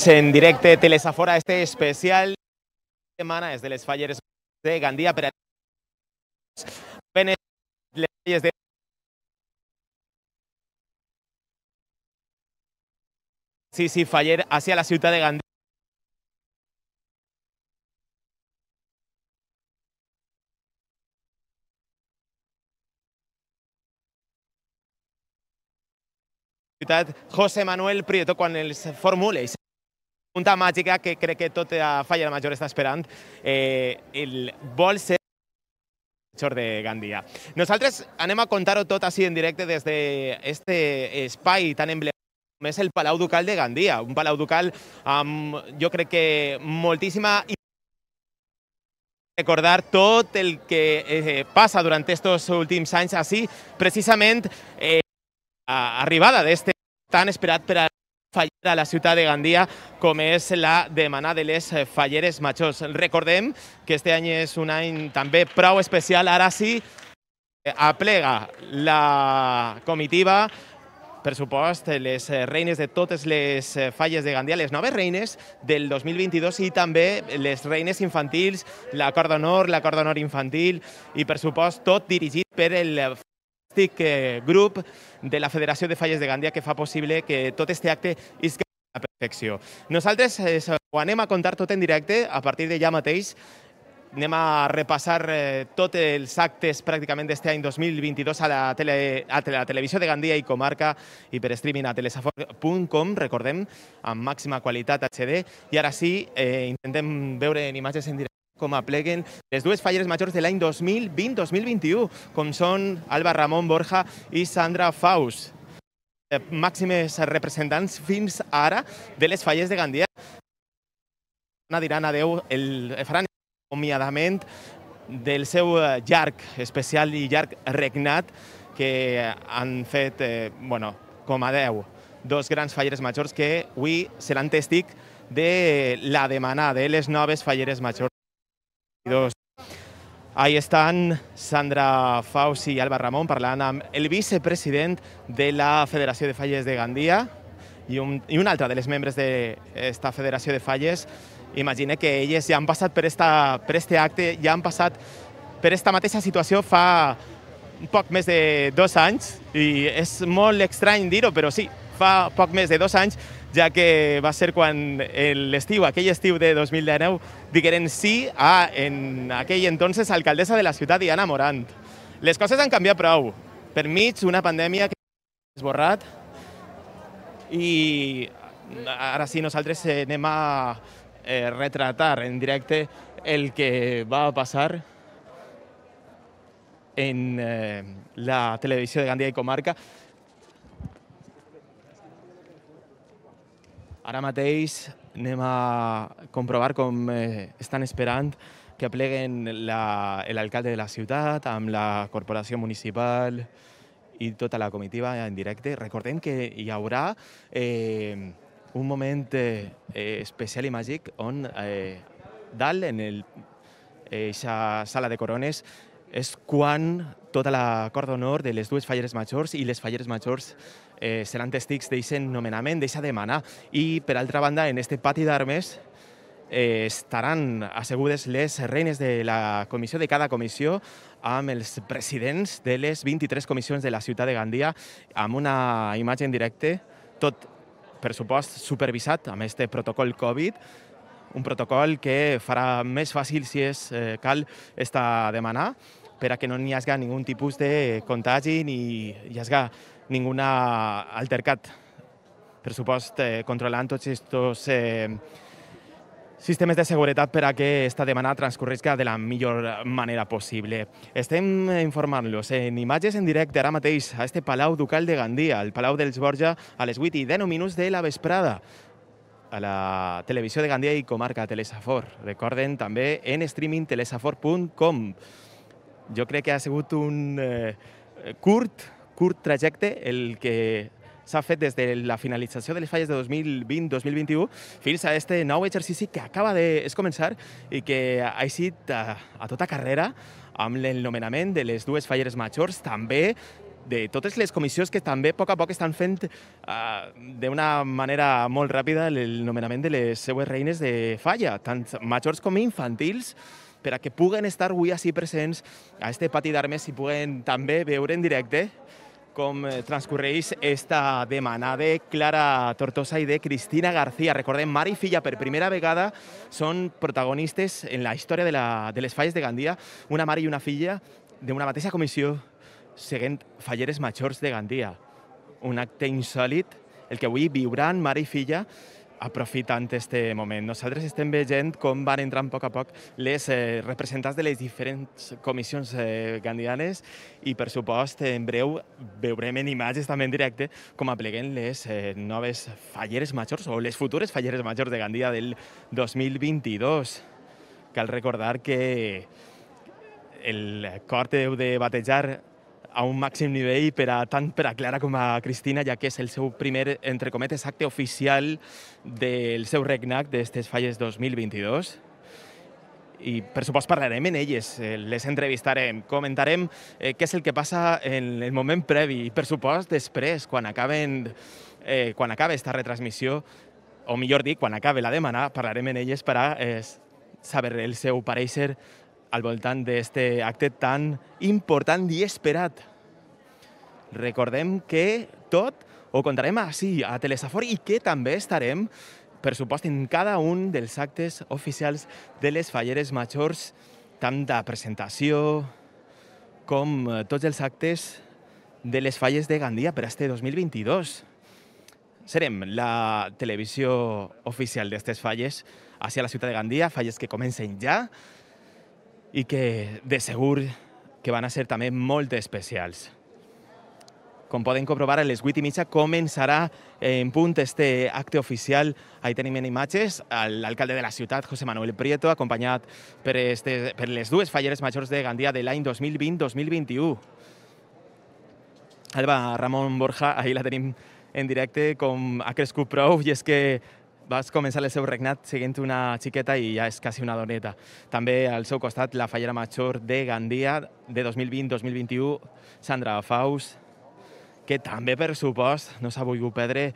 en directe Telesafora, este especial de setmana és de les falles de Gandia per a les falles de sí, faller hacia la ciutat de Gandia. José Manuel Prieto, quan els formula i pregunta màgica que crec que tota Falla Major està esperant, el vol ser major de Gandia. Nosaltres anem a contar-ho tot així en directe des d'aquest espai tan emblemàtic com és el Palau Ducal de Gandia, un Palau Ducal amb, jo crec que moltíssima recordar tot el que passa durant aquests últims anys així, precisament arribada d'este tan esperat per a fallar a la ciutat de Gandia com és la Setmana de les Falleres Majors. Recordem que este any és un any també prou especial, ara sí aplega la comitiva, per supost, les reines de totes les falles de Gandia, les noves reines del 2022 i també les reines infantils, la Cor d'Honor, la Cor d'Honor infantil i, per supost, tot dirigit per el grup de la Federació de Falles de Gandia que fa possible que tot aquest acte isca a la perfecció. Nosaltres ho anem a contar tot en directe a partir de ja mateix. Anem a repassar tots els actes pràcticament d'aquest any 2022 a la televisió de Gandia i comarca i per streaming a telesafor.com, recordem, amb màxima qualitat HD. I ara sí, intentem veure en imatges en directe com apleguen les dues falleres majors de l'any 2020-2021, com són Alba Ramon Borja i Sandra Faus, màximes representants fins ara de les falles de Gandia. Diran adeu, faran acomiadament del seu llarg especial i llarg regnat que han fet, com a 10, dos grans falleres majors que avui seran tèstic de la demana de les noves falleres majors. Ahí estan Sandra Faus i Alba Ramon parlant amb el vicepresident de la Federació de Falles de Gandia i un altre dels membres d'esta Federació de Falles. Imagina que elles ja han passat per este acte, ja han passat per esta mateixa situació fa un poc més de 2 anys i és molt estrany dir-ho, però sí, fa poc més de 2 anys, ja que va ser quan l'estiu, aquell estiu de 2019, digueren sí a, en aquell entonces, alcaldessa de la ciutat, Diana Morant. Les coses han canviat prou. Per mig una pandèmia que s'ha esborrat i ara sí nosaltres anem a retratar en directe el que va passar en la televisió de Gandia i comarca. Ara mateix anem a comprovar com estan esperant que apleguen l'alcalde de la ciutat amb la corporació municipal i tota la comitiva en directe. Recordem que hi haurà un moment especial i màgic on dalt, en aquesta sala de corones, és quan tota la Cor d'Honor de les dues falleres majors i les falleres majors seran tèstics d'aquest nomenament, d'aquesta demana. I, per altra banda, en aquest pati d'armes estaran assegudes les reines de la comissió, de cada comissió, amb els presidents de les 23 comissions de la ciutat de Gandia, amb una imatge en directe, tot, per supost, supervisat amb aquest protocol Covid, un protocol que farà més fàcil, si és cal, esta demanar, per a que no hi hagi ningun tipus de contagi ni hi hagi ningun altercat. Per supost, controlant tots aquests sistemes de seguretat per a que aquesta demanda transcorresca de la millor manera possible. Estem informant-los en imatges en directe ara mateix a este Palau Ducal de Gandia, el Palau dels Borja, a les 8:10 de la vesprada, a la televisió de Gandia i comarca Telesafor. Recorden també en streaming telesafor.com. Jo crec que ha sigut un curt trajecte el que s'ha fet des de la finalització de les falles de 2020-2021 fins a aquest nou exercici que acaba de començar i que ha eixit a tota carrera amb el nomenament de les dues falleres majors, també de totes les comissions que també a poc estan fent d'una manera molt ràpida el nomenament de les seues reines de falla, tant majors com infantils, per a que puguen estar avui així presents a este pati d'armes i puguen també veure en directe com transcorreix esta demana de Clara Tortosa i de Cristina García. Recordem, mare i filla per primera vegada són protagonistes en la història de les falles de Gandia, una mare i una filla d'una mateixa comissió seguint falleres majors de Gandia. Un acte insòlit, el que avui viuran mare i filla aprofitant este moment. Nosaltres estem veient com van entrant a poc les representants de les diferents comissions gandianes i, per supost, en breu veurem en imatges també en directe com apleguen les noves falleres majors o les futures falleres majors de Gandia del 2022. Cal recordar que el cor deu de batejar a un màxim nivell tant per a Clara com a Cristina, ja que és el seu primer, entre cometes, acte oficial del seu regnat d'estes falles 2022. I, per supost, parlarem en elles, les entrevistarem, comentarem què és el que passa en el moment previ i, per supost, després, quan acabe esta retransmissió, o millor dit, quan acabe la demana, parlarem en elles per a saber el seu pareixer al voltant d'aquest acte tan important i esperat. Recordem que tot ho contarem així, a Telesafor, i que també estarem, per supost, en cada un dels actes oficials de les falleres majors, tant de presentació com tots els actes de les falles de Gandia per a este 2022. Serem la televisió oficial d'aquestes falles hacia la ciutat de Gandia, falles que comencen ja, i que de segur que van a ser també molt especials. Com poden comprovar, a les 8:30 començarà en punt este acte oficial. Ahí tenim en imatges l'alcalde de la ciutat, José Manuel Prieto, acompanyat per les dues falleres majors de Gandia de l'any 2020-2021. Alba Ramon Borja, ahí la tenim en directe, com ha crescut prou, i és que vas començar el seu regnat seguint una xiqueta i ja és quasi una doneta. També al seu costat la fallera major de Gandia de 2020-2021, Sandra Faus, que també, per supost, no s'ha volgut perdre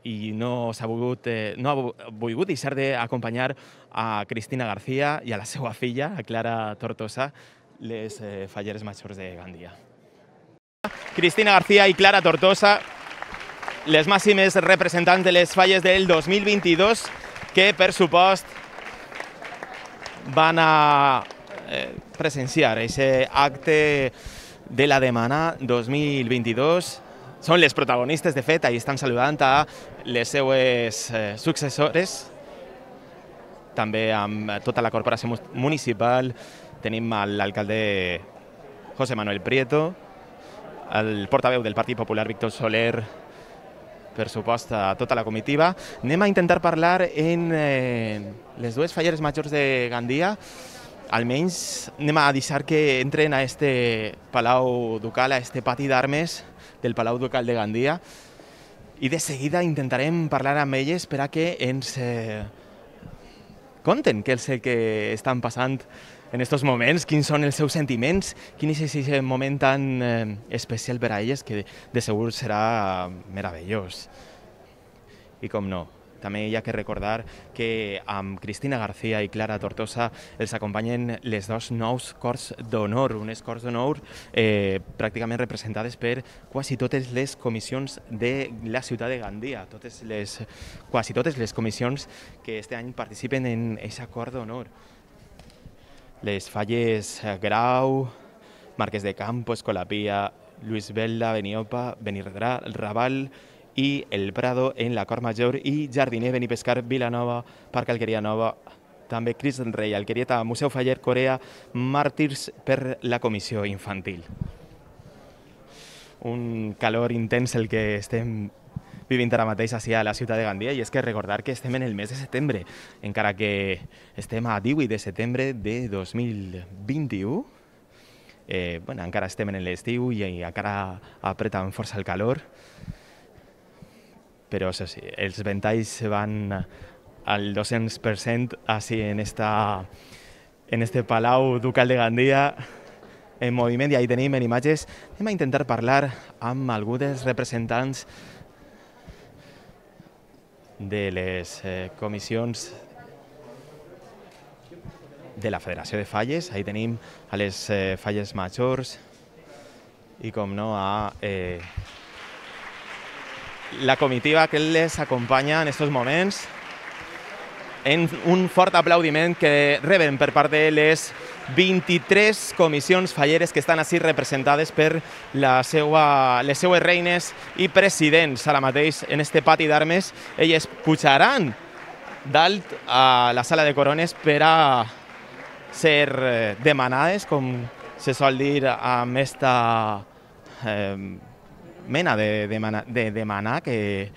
i no ha volgut deixar d'acompanyar a Cristina García i a la seva filla, a Clara Tortosa, les falleres majors de Gandia. Cristina García i Clara Tortosa, les màximes representants de les falles del 2022, que, per supost, van a presenciar aquest acte de la demana 2022. Són les protagonistes, de fet, ahí estan saludant a les seues successores, també amb tota la corporació municipal. Tenim l'alcalde José Manuel Prieto, el portaveu del Partit Popular, Víctor Soler, per supost, a tota la comitiva. Anem a intentar parlar en les dues falleres majors de Gandia. Almenys anem a deixar que entren a este Palau Ducal, a este pati d'armes del Palau Ducal de Gandia, i de seguida intentarem parlar amb elles per a que ens conten què és el que estan passant en aquests moments, quins són els seus sentiments, quin és aquest moment tan especial per a elles, que de segur serà meravellós. I com no, també hi ha que recordar que amb Cristina García i Clara Tortosa els acompanyen les dos nous Cors d'Honor, unes Cors d'Honor pràcticament representades per quasi totes les comissions de la ciutat de Gandia, quasi totes les comissions que este any participen en aquesta Cor d'Honor. Les falles Grau, Marquès de Campo, Escolapía, Luis Velda, Beniopa, Benirredrà, Raval i El Prado en la Cor Major, i Jardiner, Benipescar, Vilanova, Parc Alqueria Nova, també Crist del Rei, Alquerieta, Museu Faller, Corea, Màrtirs per la comissió infantil. Un calor intens el que estem vivint ara mateix a la ciutat de Gandia, i és que recordar que estem en el mes de setembre, encara que estem a 18 de setembre de 2021, encara estem en l'estiu i encara apreta amb força el calor, però això sí, els ventalls van al 200% així en este Palau Ducal de Gandia, en moviment i ahí tenim en imatges. Anem a intentar parlar amb algú dels representants de les comissions de la Federació de Falles. Ahí tenim a les falles majors i, com no, a la comitiva que les acompanya en aquests moments, en un fort aplaudiment que reben per part de les 23 comissions falleres que estan així representades per les seues reines i presidents. Ara mateix, en este pati d'armes, elles pujaran dalt a la sala de corones per a ser demanades, com se sol dir, amb esta mena de demanar que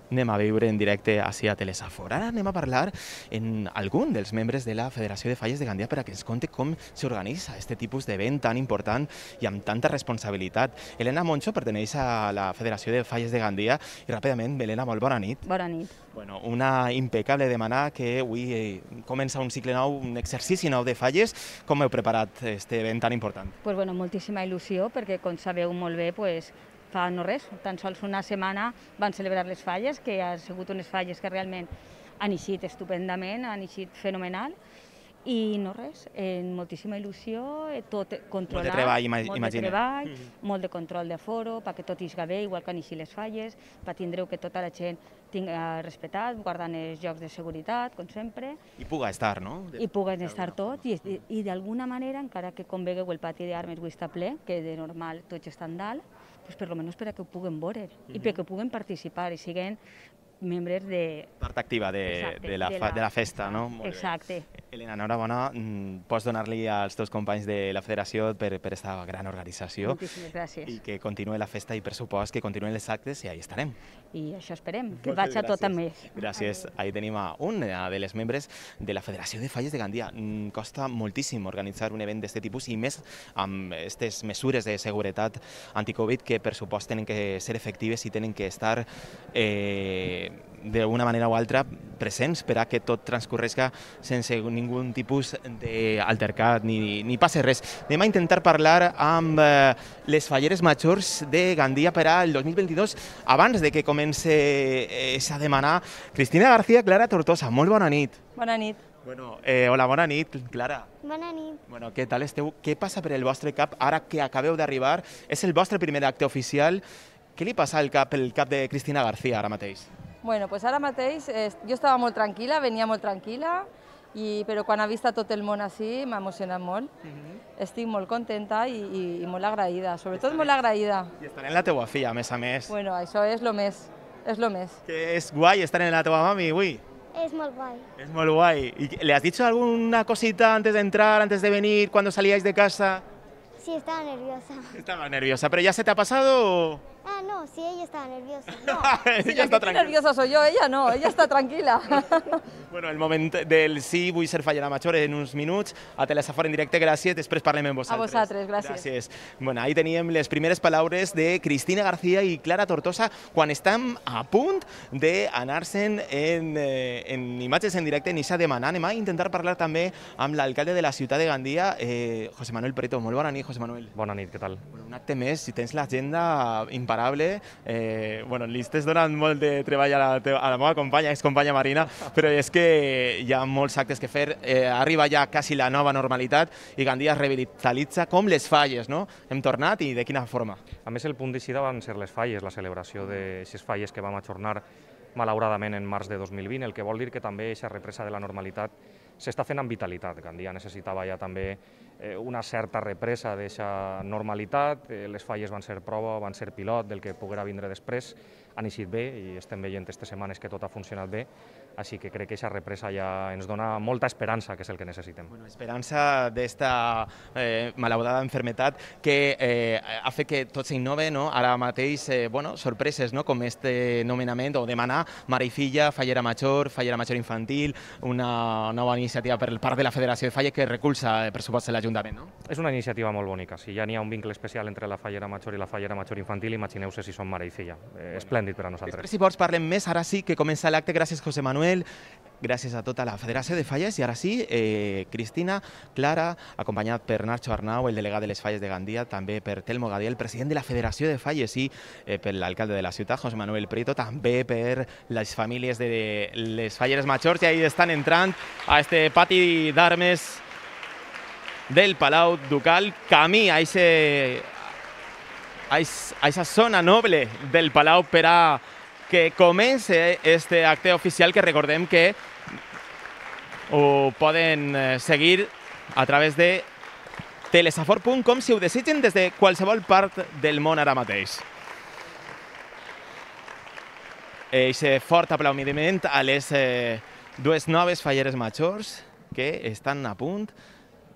anem a viure en directe ací a Telesafora. Ara anem a parlar amb algun dels membres de la Federació de Falles de Gandia per a que ens conti com s'organitza aquest tipus d'event tan important i amb tanta responsabilitat. Elena Moncho perteneix a la Federació de Falles de Gandia i ràpidament, Elena, molt bona nit. Bona nit. Bueno, una impecable demanar que avui comença un cicle nou, un exercici nou de falles. Com heu preparat aquest event tan important? Pues bueno, moltíssima il·lusió perquè, com sabeu molt bé, fa no res, tan sols una setmana van celebrar les falles, que han sigut unes falles que realment han eixit estupendament, han eixit fenomenal, i no res, moltíssima il·lusió, tot controlat, molt de control d'aforo, perquè tot ixga bé, igual que han eixit les falles, per tindreu que tota la gent tinga respectat, guardant els jocs de seguretat, com sempre. I puga estar, no? I puguen estar tots, i d'alguna manera, encara que com vegueu el pati d'armes avui està ple, que de normal tots estan dalt, per almenys per a que ho puguen veure i perquè puguen participar i siguin membres de... Part activa de la festa, no? Exacte. Elena, enhorabona. Pots donar-li als teus companys de la federació per aquesta gran organització. Moltíssimes gràcies. I que continuï la festa i, per supost, que continuïn les actes i ahí estarem. I això esperem, que vaig a tot també. Gràcies. Ahí tenim a una de les membres de la Federació de Falles de Gandia. Costa moltíssim organitzar un event d'aquest tipus i més amb aquestes mesures de seguretat anticovid que, per supost, tenen que ser efectives i tenen que estar d'una manera o altra presents per a que tot transcorresca sense ningú tipus d'altercat ni passi res. Anem a intentar parlar amb les falleres majors de Gandia per al 2022 abans de que comenci a demanar. Cristina García, Clara Tortosa, molt bona nit. Bona nit. Bueno, hola, bona nit, Clara. Bona nit. Bueno, què tal esteu? Què passa per el vostre cap ara que acabeu d'arribar? És el vostre primer acte oficial. Què li passa al cap de Cristina García ara mateix? Bueno, pues ara mateix jo estava molt tranquil·la, venia molt tranquil·la, però quan he vist tot el món així m'ha emocionat molt. Estic molt contenta i molt agraïda, sobretot molt agraïda. I estar en la teua filla, a més. Bueno, això és lo més, és lo més. Que és guai estar en la teua mami avui. Es molt guai. Es molt guai. ¿Y le has dicho alguna cosita antes de entrar, antes de venir, cuando salíais de casa? Sí, estaba nerviosa. Estaba nerviosa, pero ¿ya se te ha pasado o...? Ah, no, sí, ella estaba nerviosa. No. Ella està tranquil·la. Nerviosa soy yo, ella no, ella està tranquil·la. Bueno, el moment del sí, vull ser fallera major en uns minuts, a Telesafora en directe, gràcies, després parlem amb vosaltres. A vosaltres, gràcies. Gràcies. Bueno, ahí teníem les primeres paraules de Cristina García i Clara Tortosa quan estem a punt d'anar-se'n en imatges en directe, ni s'ha demanat. Anem a intentar parlar també amb l'alcalde de la ciutat de Gandia, José Manuel Preto. Molt bona nit, José Manuel. Bona nit, què tal? Un acte més, si tens l'agenda imparable. Li estàs donant molt de treball a la meva companya, excompanya Marina, però és que hi ha molts actes que fer. Arriba ja quasi la nova normalitat i Gandia es revitalitza com les falles, no? Hem tornat i de quina forma? A més, el punt d'eixida van ser les falles, la celebració d'aquestes falles que vam ajornar malauradament en març de 2020, el que vol dir que també aquesta represa de la normalitat s'està fent amb vitalitat. Gandia necessitava ja també una certa represa d'aquesta normalitat. Les falles van ser prova, van ser pilot del que poguera vindre després. Han eixit bé i estem veient aquestes setmanes que tot ha funcionat bé. Així que crec que aquesta represa ja ens dona molta esperança, que és el que necessitem. Bueno, esperança d'esta malaudada enfermetat que ha fet que tot s'innove, no? Ara mateix, sorpreses, no? Com este nomenament o demanar mare i filla, fallera major infantil, una nova iniciativa per part de la Federació de Falles que recolza, per supost, l'Ajuntament, no? És una iniciativa molt bonica. Si ja n'hi ha un vincle especial entre la fallera major i la fallera major infantil, imagineu-se si són mare i filla. Esplèndid per a nosaltres. Després, si vols, parlem més. Ara sí que comença l'acte. Gràcies, José Manuel. Manuel, gràcies a tota la Federació de Falles. I ara sí, Cristina, Clara, acompanyat per Nacho Arnau, el delegat de les Falles de Gandia, també per Telmo Gadiel, el president de la Federació de Falles, i per l'alcalde de la ciutat, José Manuel Prieto, també per les famílies de les Falleres Majors, i ahí estan entrant a este pati d'armes del Palau Ducal, camí a esa zona noble del Palau per a que comence este acte oficial, que recordem que ho poden seguir a través de telesafor.com si ho desitgen des de qualsevol part del món ara mateix. Eixe fort aplaudiment a les dues noves Falleres Majors que estan a punt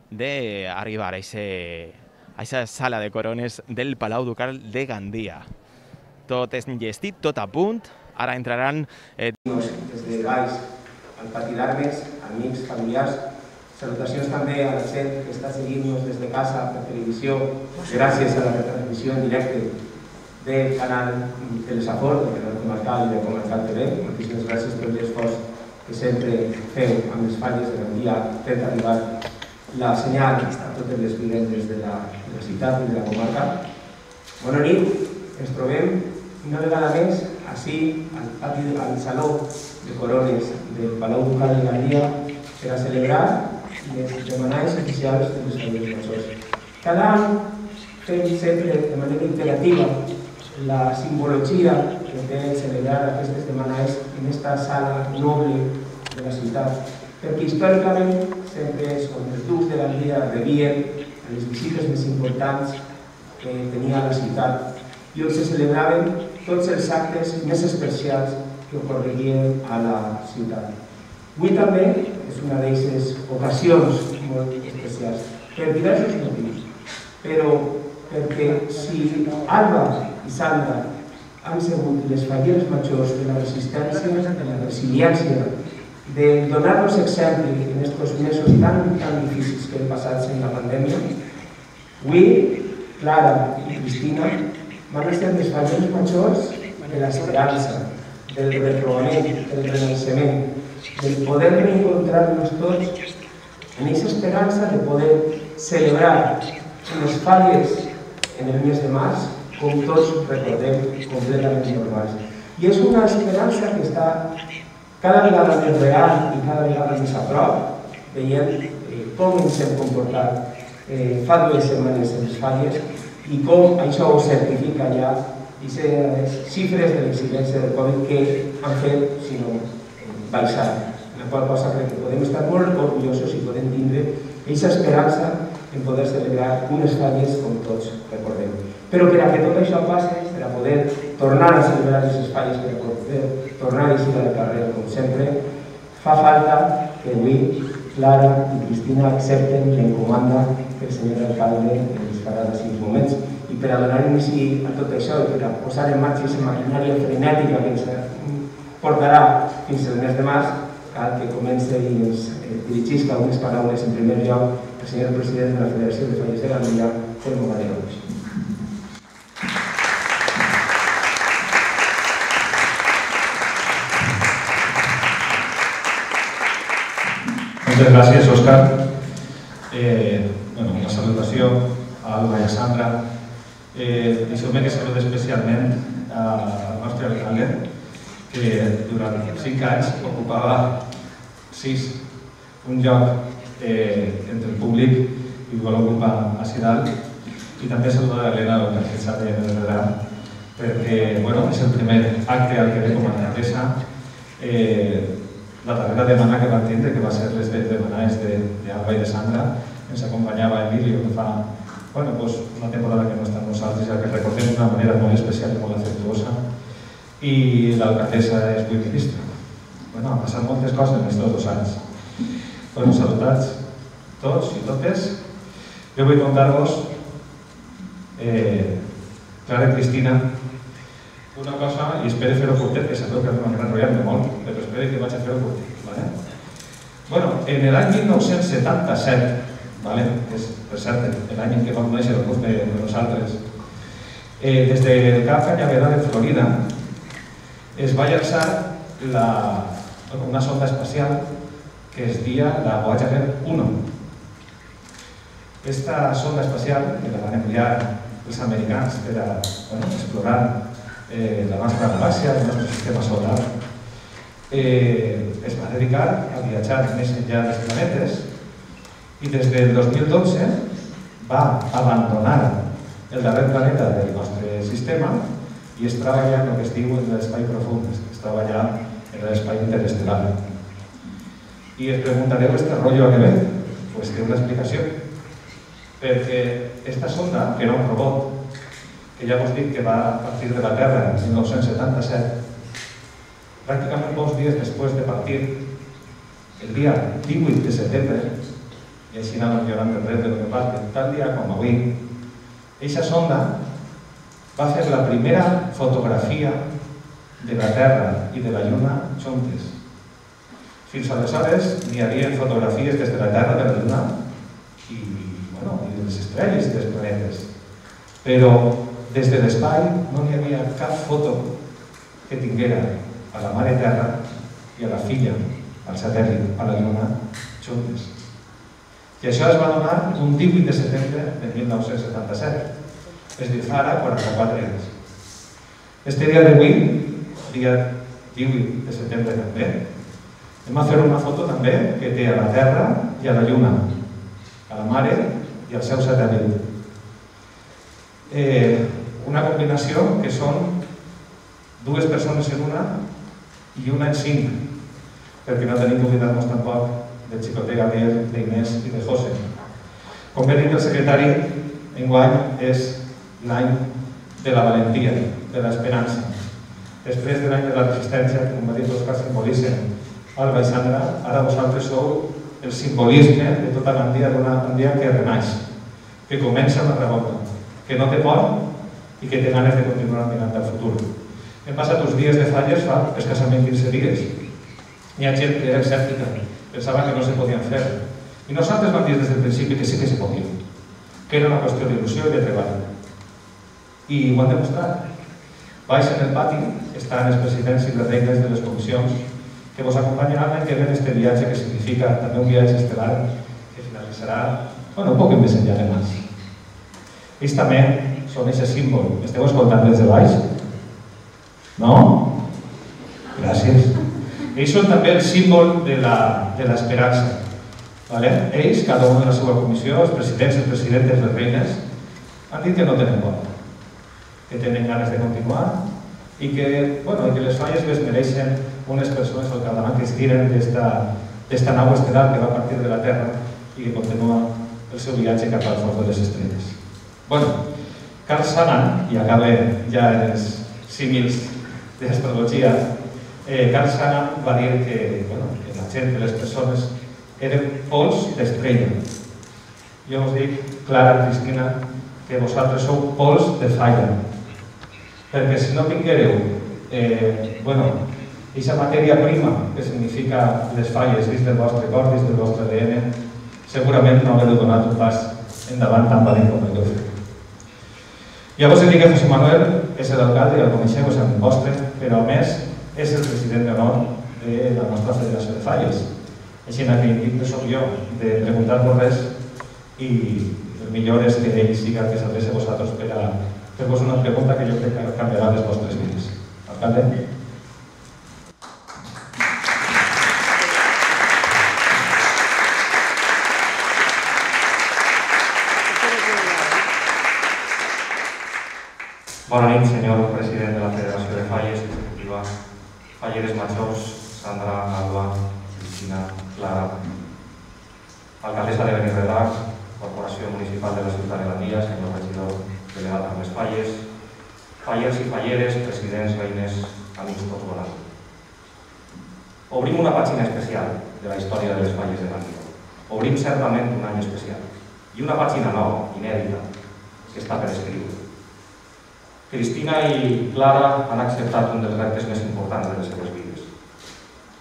d'arribar a aquesta sala de corones del Palau Ducal de Gandia. Tot és enllestit, tot a punt. Ara entraran... Des de baix al pati d'armes, amics, familiars. Salutacions també a la gent que està seguint-nos des de casa per televisió, gràcies a la retransmissió en directe del canal Telesafor, del canal comarcal i de Comarcal TV. Moltíssimes gràcies per l'esforç que sempre feu amb les Falles de Gandia, fent arribar la senyal a totes les vivendes de la ciutat i de la comarca. Bona nit. Ens trobem una vegada més així al Saló de Corones del Palau Ducal de Gandia per a celebrar les demanades oficials de les Falleres Majors. Cada any fem sempre de manera imperativa la simbologia que té celebrar aquestes demanades en aquesta sala noble de la ciutat, perquè històricament sempre és on els ducs de Gandia rebien les visites més importants que tenia la ciutat i on se celebraven tots els actes més especials que ocorrerien a la ciutat. Avui també és una d'aquestes ocasions molt especials, per diversos motius, però perquè si Alba i Sandra han sigut les Falleres Majors de la resistència, de la resiliència, de donar-nos exemple en aquests mesos tan difícils que hem passat en la pandèmia, avui Clara i Cristina van ser les Falleres Majors de l'esperança, del retrobament, del renaixement, del poder reencontrar-nos tots en aquesta esperança de poder celebrar les Falles en el mes de març, com tots recordem, completament normals. I és una esperança que està cada vegada més real i cada vegada més a prop, veient com ens hem comportat fa 2 setmanes en les Falles i com això ho certifica ja aquestes xifres de l'incidència del Covid que han fet, si no, baixar. La qual cosa crec que podem estar molt orgullosos i podem tindre aquesta esperança en poder celebrar unes Falles com tots recordem. Però per a que tot això passi, per a poder tornar a celebrar aquestes Falles, per a poder tornar a eixir al carrer com sempre, fa falta que avui Clara i Cristina accepten l'encomanda que el senyor alcalde ens farà d'ací uns moments. I per a donar inici a tot això i per a posar en marxa aquesta maquinària frenètica que ens portarà fins al mes de març, cal que comenci i ens dirigisca algunes paraules en primer lloc el senyor president de la Federació de Falles de Gandia, Telmo Gadiel. Moltes gràcies, Òscar. Una salutació a Alba i a Sandra. Deixeu-me que salude especialment al nostre alcalde, que durant 5 anys ocupava un lloc entre el públic i el vol ocupar a Dalt. I també saludar a l'Helena, que s'ha de redar, perquè és el primer acte al que ve com a alcaldessa. La darrera demana que van tindre, que va ser les demanades d'Alba i de Sandra, ens acompanyava Emilio, que fa una temporada que no està amb nosaltres, i que recordem d'una manera molt especial i molt afectuosa, i l'alcaldessa és avui ministra. Han passat moltes coses en aquests 2 anys. Salutats tots i totes. Jo vull contar-vos, Clara i Cristina, una cosa, i espero fer-ho curtet, que sabeu que m'enrotllant-me molt, però espero que vaig a fer-ho curtet. En l'any 1977, que és, per cert, l'any en què vam conèixer el curs de nosaltres, des del Cap Cañaveral de Florida es va llançar una sonda espacial que es dia la Voyager 1. Esta sonda espacial, que la van enviar els americans per a explorar la nostra galàxia, el nostre sistema solar, es va dedicar a viatjar més enllà dels planetes i des del 2012 va abandonar el darrer planeta del nostre sistema i es treballa en el que es diu en l'espai profund, es treballa en l'espai interestel·lar. I es preguntareu, ¿este rollo a què ve? Pues té una explicació. Perquè esta sonda, que era un robot, que ja us dic que va a partir de la Terra en 1977, pràcticament pocs dies després de partir, el dia 18 de setembre, i així anàvem llorant el dret de lo que passa, tal dia com avui, aquesta sonda va fer la primera fotografia de la Terra i de la Lluna juntes. Fins aleshores n'hi havia fotografies des de la Terra, de la Lluna i de les estrelles i dels planetes. Però des de l'espai no n'hi havia cap foto que tinguera a la Mare Terra i a la filla, al satèl·lit, a la Lluna, juntes. I això es va donar un 18 de setembre de 1977, és a dir, fa ara 44 anys. Este dia d'avui, dia 18 de setembre també, hem de fer una foto també que té a la Terra i a la Lluna, a la Mare i al seu satèl·lit. Una combinació que són dues persones en una i una en 5, perquè no tenim que oblidar-nos tampoc del xicotet Gabriel, d'Inés i de José. Com bé dit el secretari, enguany és l'any de la valentia, de l'esperança. Després de l'any de la resistència, que com va dir l'Òscar simbolitzen Alba i Sandra, ara vosaltres sou el simbolisme de tota Gandia, d'una Gandia que renaix, que comença una revolta, que no té por i que té ganes de continuar mirant al futur. Hem passat uns dies de falles fa escassament 15 dies. Hi ha gent que era escèptica, pensava que no se podien fer. I nosaltres vam dir des del principi que sí que se podien, que era una qüestió d'il·lusió i de treball. I ho han demostrat. Baix en el pati estan els presidents i les reines de les comissions que vos acompanyaran l'any que ve en este viatge, que significa també un viatge estel·lar que finalitzarà un poc més enllà de Mars. Ells també són aquest símbol. Esteu escoltant des de baix? No? Gràcies. Ells són també el símbol de l'esperança. Ells, cada un de la seva comissió, els presidents, les presidentes, les reines, han dit que no tenen por, que tenen ganes de continuar i que les falles les mereixen unes persones al capdavant que es tiren d'esta nau estel·lar que va partir de la Terra i que continua el seu viatge cap al fons de les estrelles. Carl Sagan, i acaba ja els símils d'astrologia, Carl Sagan va dir que la gent, que les persones, eren pols d'estrella. Jo us dic, Clara, Cristina, que vosaltres sou pols de falla. Perquè si no tinguéreu aquesta matèria prima que significa les falles dins del vostre cor, dins del vostre ADN, segurament no haureu donat un pas endavant tan valent com el que heu fet. Llavors dic que José Manuel és l'alcalde, ja el coneixeu, és el vostre, però a més és el president d'honor de la nostra Federació de Falles. Així que indic que soc jo de preguntar-vos res i el millor és que ell siga el que s'adreci a vosaltres per a fer-vos una pregunta que jo crec que canviarà les vostres vides. Alcalde? Bona nit, senyor president de la Federació de Falles, ejecutiva, falleres majors, Sandra, Alba, Cristina, Clara, alcaldessa de Benirredrà, Corporació Municipal de la Ciutat de Gandia, senyor regidor delegat amb les falles, fallers i falleres, presidents, reines, amics tots volants. Obrim una pàgina especial de la història de les falles de Gandia. Obrim certament un any especial i una pàgina nova, inèdita, que està per escriure. Cristina i Clara han acceptat un dels reptes més importants de les seves vides.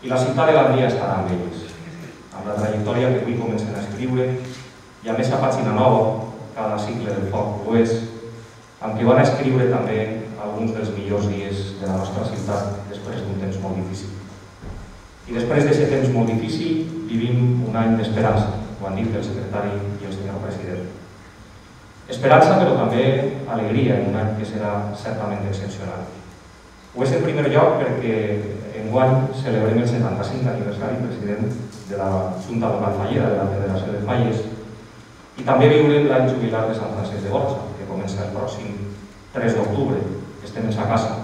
I la ciutat de Gandia estarà amb ells, amb la trajectòria que avui comencen a escriure i amb aquesta pàgina nova, cada cicle del foc ho és, amb què van escriure també alguns dels millors dies de la nostra ciutat després d'un temps molt difícil. I després d'aquest temps molt difícil, vivim un any d'esperança, ho han dit el secretari i el senyor president. Esperança, però també alegria en un any que serà certament excepcional. Ho és en primer lloc perquè enguany celebrem el 75 aniversari, president, de la Junta Local Fallera, de la Federació de Falles, i també viurem l'any jubilar de Sant Francesc de Borja, que comença el pròxim 3 d'octubre. Estem en sa casa,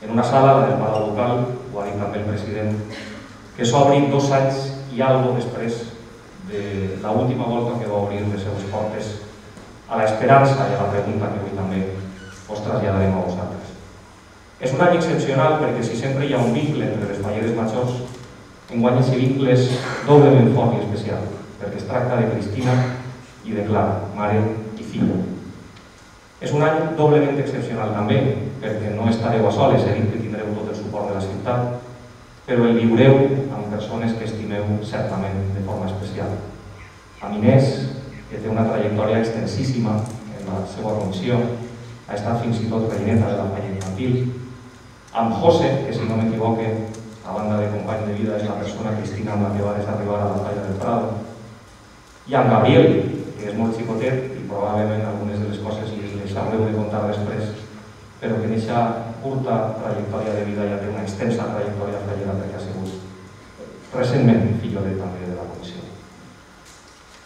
en una sala, la del Palau Local, ho ha dit també el president, que s'obri 2 anys i algo després de l'última volta que va obrir les seues portes a l'esperança i a la pregunta que avui també us traslladarem a vosaltres. És un any excepcional perquè si sempre hi ha un vincle entre les falleres majors, enguany aquest vincle és doblement fort i especial, perquè es tracta de Cristina i de Clara, mare i filla. És un any doblement excepcional també, perquè no estareu a soles, he dit que tindreu tot el suport de la ciutat, però el viureu amb persones que estimeu certament de forma especial. Amb Inés, que té una trajectòria extensíssima en la seva comissió, ha estat fins i tot reineta de la falla infantil. Amb José, que si no m'equivoque, a banda de company de vida, és la persona Cristina amb la que vas arribar a la falla del Prado. I amb Gabriel, que és molt xicotet i probablement algunes de les coses les haureu de contar després, però que en aquesta curta trajectòria de vida ja té una extensa trajectòria fallera perquè ha sigut recentment fillolet també de la comissió.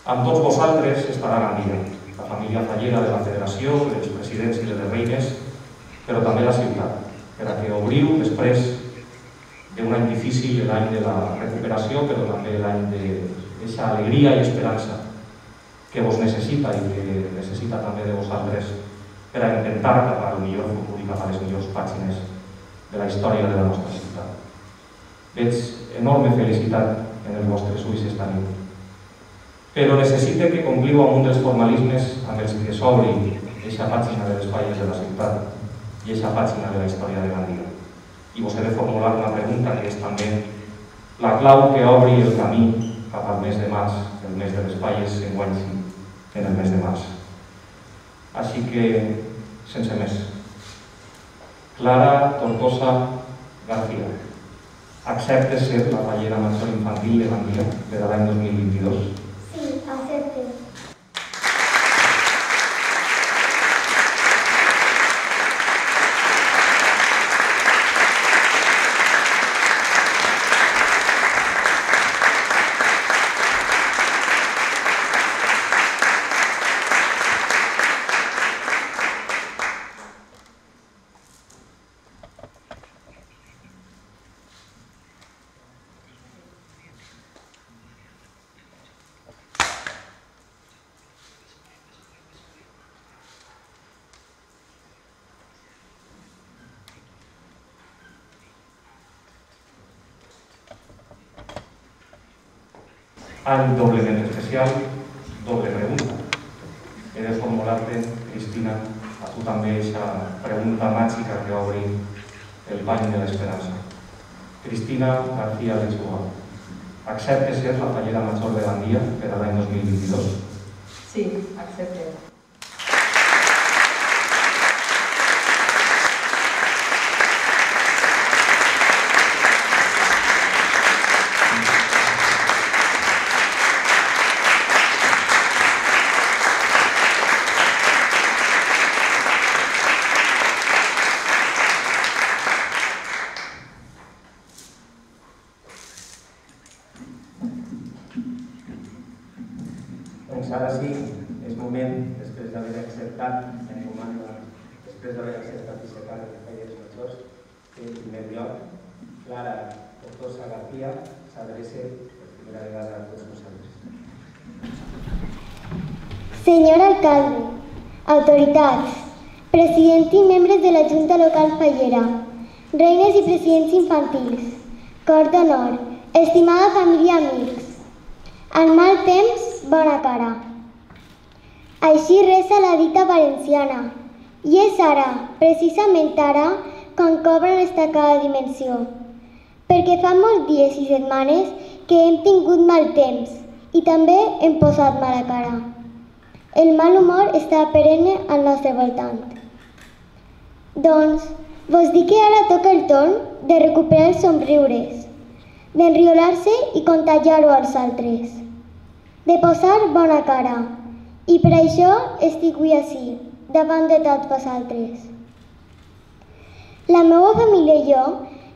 Amb tots vosaltres estarà Gandia, la família fallera de la federació, els presidents i les reines, però també la ciutat, per a que obriu després d'un any difícil, l'any de la recuperació, però també l'any d'aquesta alegria i esperança que vos necessita i que necessita també de vosaltres per a intentar cap al millor futur i cap a les millors pàgines de la història de la nostra ciutat. Veig enorme felicitat en els vostres ulls esta nit, però necessite que compliu amb un dels formalismes amb els que s'obri aquesta pàgina de les falles de la ciutat i aquesta pàgina de la història de Gandia. I vos he de formular una pregunta que és també la clau que obri el camí cap al mes de març, el mes de les falles, enguany sí, en el mes de març. Així que, sense més, Clara Tortosa García, acceptes ser la fallera major infantil de Gandia per a l'any 2022? Sí, acepte. Any doblement especial, doble pregunta. He de formular-te, Cristina, a tu també aquesta pregunta màgica que obri el bany de l'esperança. Cristina García Lechuga, acceptes ser la fallera major de Gandia per a l'any 2022? Sí, accepte. Doncs ara sí, és moment, després d'haver acceptat la comanda, després d'haver acceptat aquest càrrec de falleres majors, que en primer lloc, Clara Tortosa García s'adreça per primera vegada a tots vosaltres. Senyor alcalde, autoritats, president i membres de la Junta Local Fallera, reines i presidents infantils, cor d'honor, estimada família amics, al mal temps, bona cara. Així resa la dita valenciana, i és ara, precisament ara, quan cobra en destacada dimensió, perquè fa molts dies i setmanes que hem tingut mal temps i també hem posat mala cara. El mal humor està perenne al nostre voltant. Doncs, vos dic que ara toca el torn de recuperar els somriures, d'enriolar-se i contagiar-ho als altres, de posar bona cara. I per això estic avui ací, davant de tots vosaltres. La meva família i jo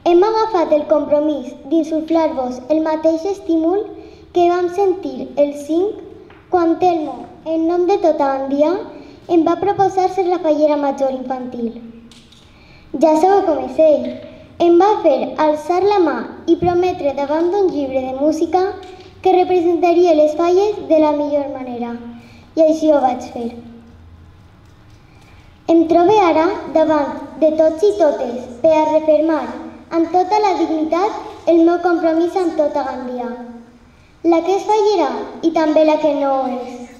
hem agafat el compromís d'insuflar-vos el mateix estímul que vam sentir el 5 quan Telmo, en nom de tota Gandia, em va proposar ser la fallera major infantil. Ja sabeu com és ell. Em va fer alçar la mà i prometre davant d'un llibre de música que representaria les falles de la millor manera. I així ho vaig fer. Em trobo ara davant de tots i totes per a refermar amb tota la dignitat el meu compromís amb tota Gandia. La que és fallera i també la que no ho és.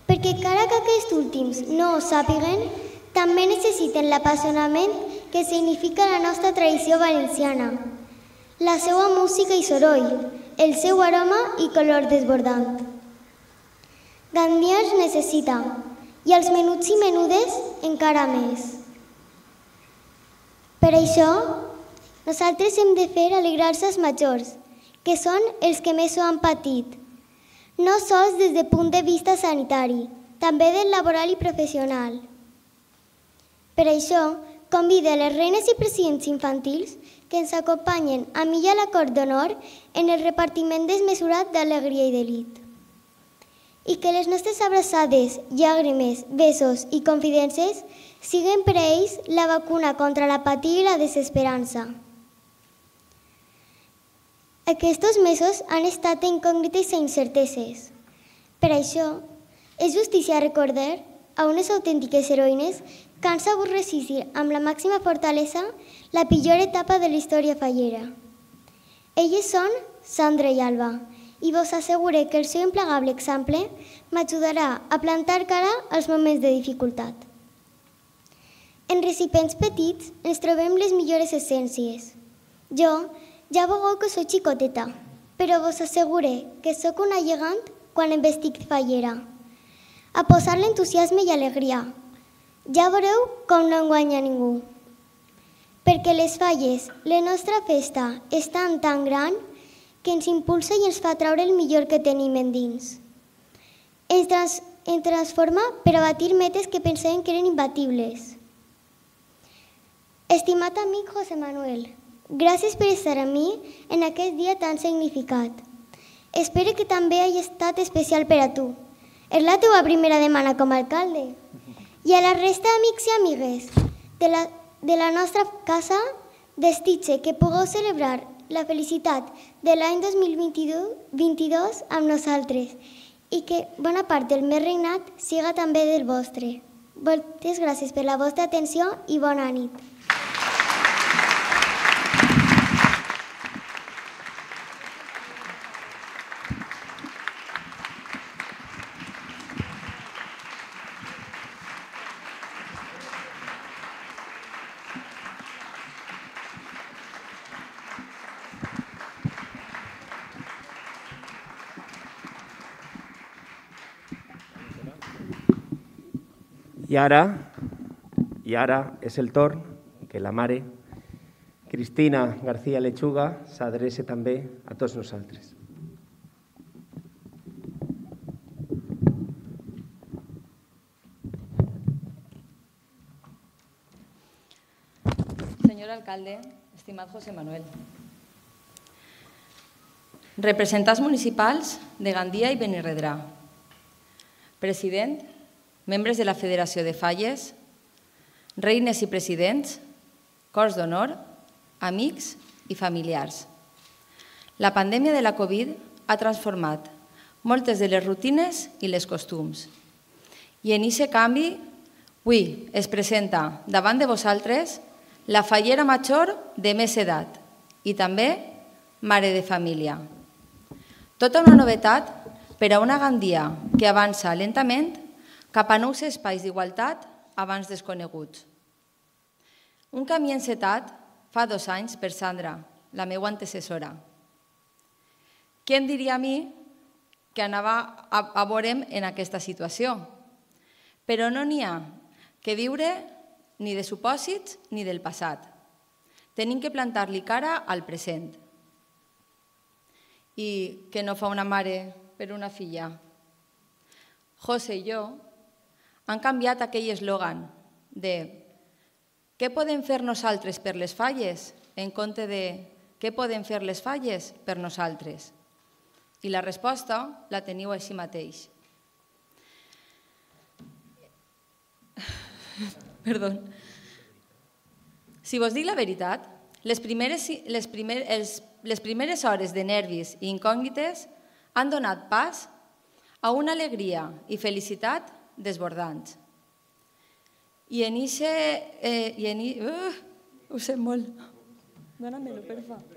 Perquè encara que aquests últims no ho sàpiguen, també necessiten l'apassionament que significa la nostra tradició valenciana, la seva música i soroll, el seu aroma i color desbordant. Gandia ens necessita, i els menuts i menudes encara més. Per això, nosaltres hem de fer alegrar-se als majors, que són els que més ho han patit, no sols des del punt de vista sanitari, també del laboral i professional. Per això, convido a les reines i presidents infantils que ens acompanyen a mi i a la Cort d'Honor en el repartiment desmesurat d'alegria i delit. I que les nostres abraçades, llàgrimes, besos i confidences siguin per a ells la vacuna contra l'apatia i la desesperança. Aquests mesos han estat incògnites i incerteses. Per això, és justícia recordar a unes autèntiques heroïnes que han sabut resistir amb la màxima fortalesa la pitjor etapa de la història fallera. Elles són Sandra i Alba, i vos asseguro que el seu implegable exemple m'ajudarà a plantar cara als moments de dificultat. En recipients petits ens trobem les millors essències. Jo ja vegeu que soc xicoteta, però vos asseguro que sóc una gegant quan em vestic fallera. A posar l'entusiasme i alegria. Ja veureu com no enguanya ningú. Perquè les falles, la nostra festa, és tan gran que ens impulsa i ens fa traure el millor que tenim endins. Ens transforma per a batir metes que pensàvem que eren imbatibles. Estimat amic José Manuel, gràcies per estar amb mi en aquest dia tan significat. Espero que també hagi estat especial per a tu. És la teva primera demana com a alcalde. I a la resta d'amics i amigues de la nostra casa, desitge que pugueu celebrar la felicitat de l'any 2022 amb nosaltres i que bona part del meu regnat siga també del vostre. Moltes gràcies per la vostra atenció i bona nit. I ara és el torn que la mare, Cristina García Lechuga, s'adreci també a tots nosaltres. Señor alcalde, estimat José Manuel, representants municipals de Gandia i Benirredrà, president, membres de la Federació de Falles, reines i presidents, cors d'honor, amics i familiars. La pandèmia de la Covid ha transformat moltes de les rutines i les costums. I en aquest canvi, avui es presenta davant de vosaltres la fallera major de més edat i també mare de família. Tota una novetat per a una Gandia que avança lentament cap a nous espais d'igualtat abans desconeguts. Un camí encetat fa 2 anys per Sandra, la meva antecessora. Qui em diria a mi que anava a veure'm en aquesta situació? Però no n'hi ha que viure ni de supòsits ni del passat. Tenim que plantar-li cara al present. i que no fa una mare per una filla. José i jo han canviat aquell eslògan de què podem fer nosaltres per les falles en compte de què podem fer les falles per nosaltres. I la resposta la teniu així mateix. Perdó. Si vos dic la veritat, les primeres hores de nervis i incògnites han donat pas a una alegria i felicitat desbordants. I en ixe... Ho sé molt. Dóna-me-lo, per favor.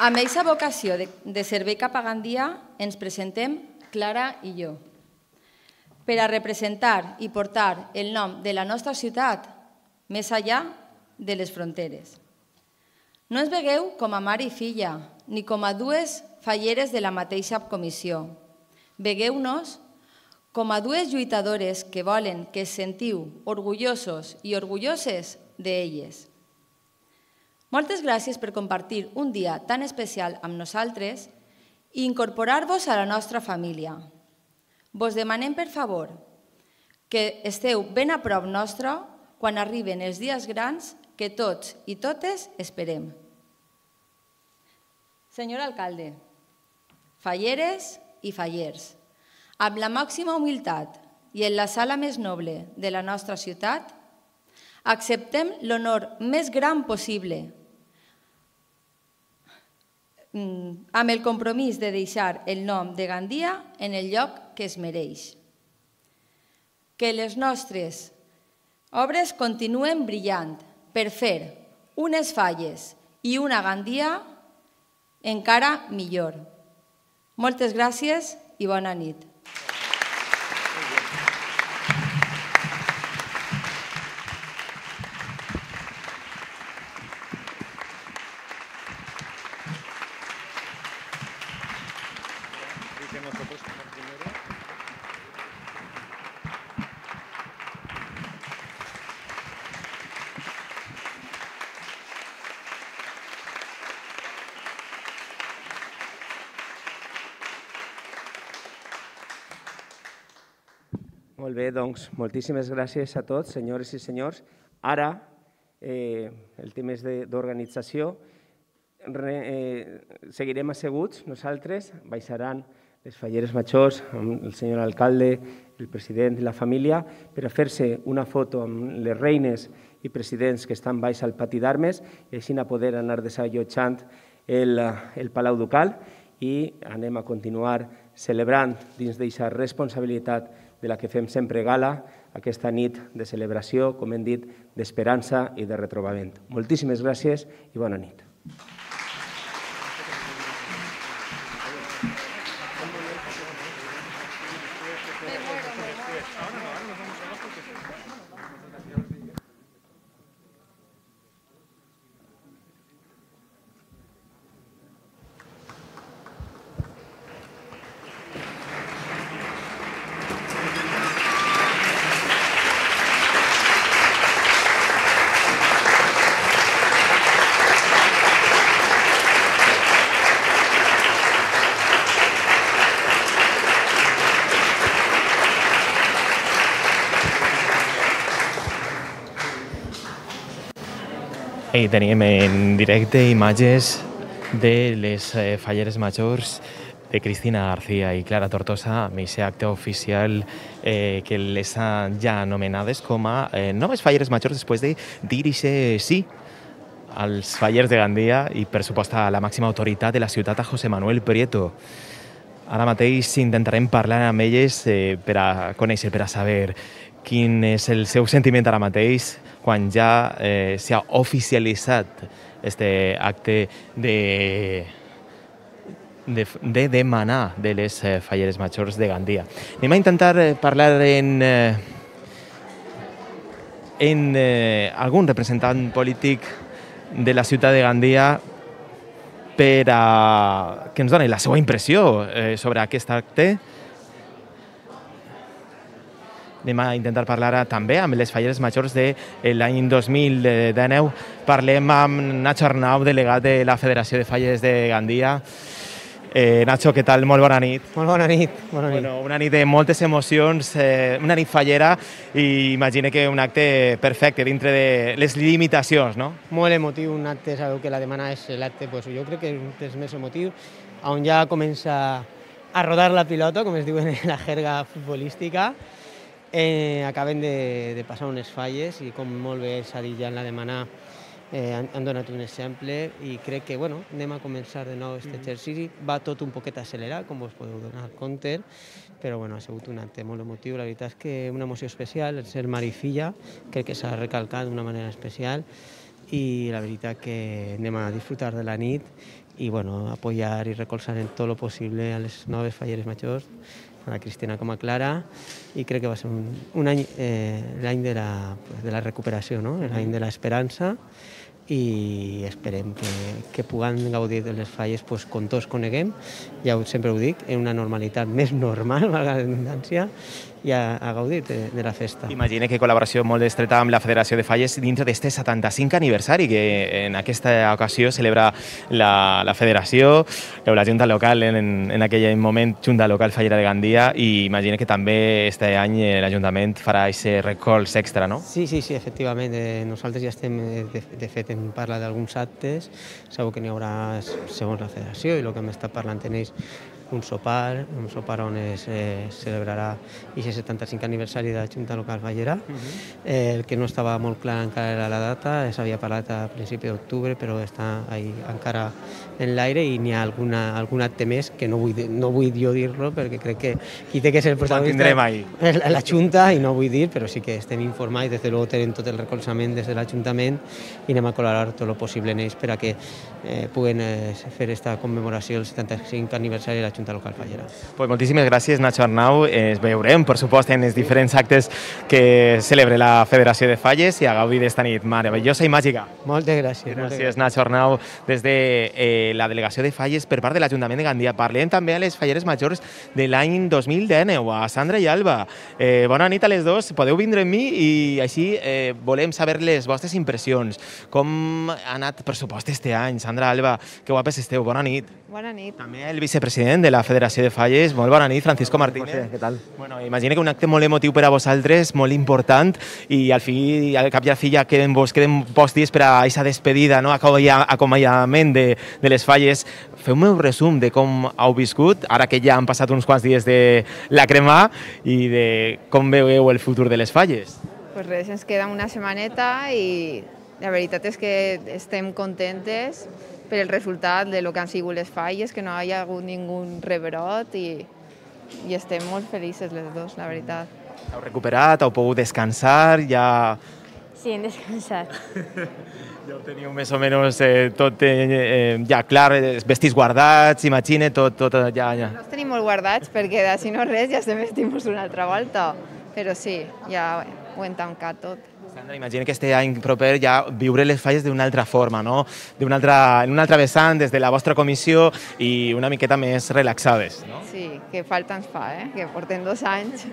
Amb aquesta vocació de servei cap a Gandia ens presentem Clara i jo per a representar i portar el nom de la nostra ciutat més enllà de les fronteres. No ens vegueu com a mare i filla, ni com a dues falleres de la mateixa comissió. Vegueu-nos com a dues lluitadores que volen que es sentiu orgullosos i orgulloses d'elles. Moltes gràcies per compartir un dia tan especial amb nosaltres i incorporar-vos a la nostra família. Vos demanem, per favor, que esteu ben a prop nostre quan arriben els dies grans que tots i totes esperem. Senyor alcalde, falleres i fallers, amb la màxima humilitat i en la sala més noble de la nostra ciutat, acceptem l'honor més gran possible amb el compromís de deixar el nom de Gandia en el lloc que es mereix. Que les nostres obres continuen brillant per fer unes falles i una Gandia encara millor. Moltes gràcies i bona nit. Molt bé, doncs, moltíssimes gràcies a tots, senyores i senyors. Ara, el tema és d'organització. Seguirem asseguts nosaltres, baixaran les falleres majors amb el senyor alcalde, el president i la família, per a fer-se una foto amb les reines i presidents que estan baix al pati d'armes i així poder anar desallotjant el Palau Ducal i anem a continuar celebrant dins d'aquesta responsabilitat de la que fem sempre gala, aquesta nit de celebració, com hem dit, d'esperança i de retrobament. Moltíssimes gràcies i bona nit. I tenim en directe imatges de les falleres majors de Cristina García i Clara Tortosa amb aquest acte oficial que les han ja anomenades com a noves falleres majors després de dir sí als fallers de Gandia i, per supost, a la màxima autoritat de la ciutat, a José Manuel Prieto. Ara mateix intentarem parlar amb elles per a conèixer, per a saber quin és el seu sentiment ara mateix quan ja s'ha oficialitzat aquest acte de demanar de les falleres majors de Gandia. Anem a intentar parlar en algun representant polític de la ciutat de Gandia per que ens doni la seva impressió sobre aquest acte. Anem a intentar parlar ara també amb les falleres majors de l'any 2019. Parlem amb Nacho Arnau, delegat de la Federació de Falles de Gandia. Nacho, què tal? Molt bona nit. Molt bona nit. Bueno, una nit de moltes emocions, una nit fallera i imagino que un acte perfecte dintre de les limitacions, no? Molt emotiu, un acte, sabeu que la setmana és l'acte, jo crec que és un dels més emotius, on ja comença a rodar la pilota, com es diu en la jerga futbolística. Acaben de passar unes falles i com molt bé s'ha dit ja en la setmana han donat un exemple i crec que anem a començar de nou aquest exercici. Va tot un poquet accelerat, com us podeu donar compte, però ha sigut un acte molt emotiu. La veritat és que una emoció especial, el ser mare i filla, crec que s'ha recalcat d'una manera especial i la veritat que anem a disfrutar de la nit i apoyar i recolzar en tot el possible a les noves falleres majors, a la Cristina com a Clara, i crec que va ser un any, l'any de la recuperació, l'any de l'esperança, i esperem que puguem gaudir de les falles com tots coneguem, ja sempre ho dic, en una normalitat més normal, valga la redundància, i a gaudir de la festa. Imagina que col·laboració molt estreta amb la Federació de Falles dintre d'aquest 75 aniversari que en aquesta ocasió celebra la Federació, la Junta Local, en aquell moment Junta Local Fallera de Gandia, i imagina que també aquest any l'Ajuntament farà aquest recolz extra, no? Sí, efectivament. Nosaltres ja estem, de fet, hem parlat d'alguns actes, segur que n'hi haurà, segons la Federació, i el que hem estat parlant en ells, un sopar on es celebrarà aquest 75 aniversari de la Junta Local Fallera. El que no estava molt clar encara era la data, s'havia parlat a principi d'octubre, però està encara en l'aire i n'hi ha algun acte més que no vull jo dir-lo perquè crec que qui té que ser el protagonista és la Junta i no vull dir, però sí que estem informats, des de luego tenim tot el recolzament des de l'Ajuntament i anem a col·laborar tot el possible en ells per a que puguen fer aquesta commemoració del 75 aniversari de la Junta Local Fallera. Pues moltíssimes gràcies, Nacho Arnau. Ens veurem, per supost, en els diferents actes que celebra la Federació de Falles i a gaudir d'esta nit meravellosa i màgica. Moltes gràcies. Gràcies, Nacho Arnau, des de la Delegació de Falles per part de l'Ajuntament de Gandia. Parlem també a les falleres majors de l'any 2019, a Sandra i Alba. Bona nit a les dos, podeu vindre amb mi i així volem saber les vostres impressions. Com ha anat, per supost, este any? Sandra, Alba, que guapes esteu, bona nit. Bona nit. També el vicepresident de la Federació de Falles, molt bona nit, Francisco Martínez. Què tal? Bueno, imagina que un acte molt emotiu per a vosaltres, molt important, i al cap i a la fi ja queden pocs dies per a aquesta despedida, acomiadament de les falles. Feu-me un resum de com heu viscut, ara que ja han passat uns quants dies de la crema, i de com veieu el futur de les falles. Pues res, ens queda una setmaneta i la veritat és que estem contentes per el resultat de lo que han sigut les falles, que no hi ha hagut ningú rebrot i estem molt felices les dos, la veritat. Heu recuperat, heu pogut descansar, ja... Sí, hem descansat. Ja ho teniu més o menys tot ja clar, vestits guardats, imagina, tot ja... No els tenim molt guardats perquè, si no res, ja estem vestits una altra volta, però sí, ja ho hem tancat tot. Sandra, imagina que este any proper ja viure les falles d'una altra forma, no? En un altre vessant, des de la vostra comissió i una miqueta més relaxades, no? Sí, que falta ens fa, que portem 2 anys.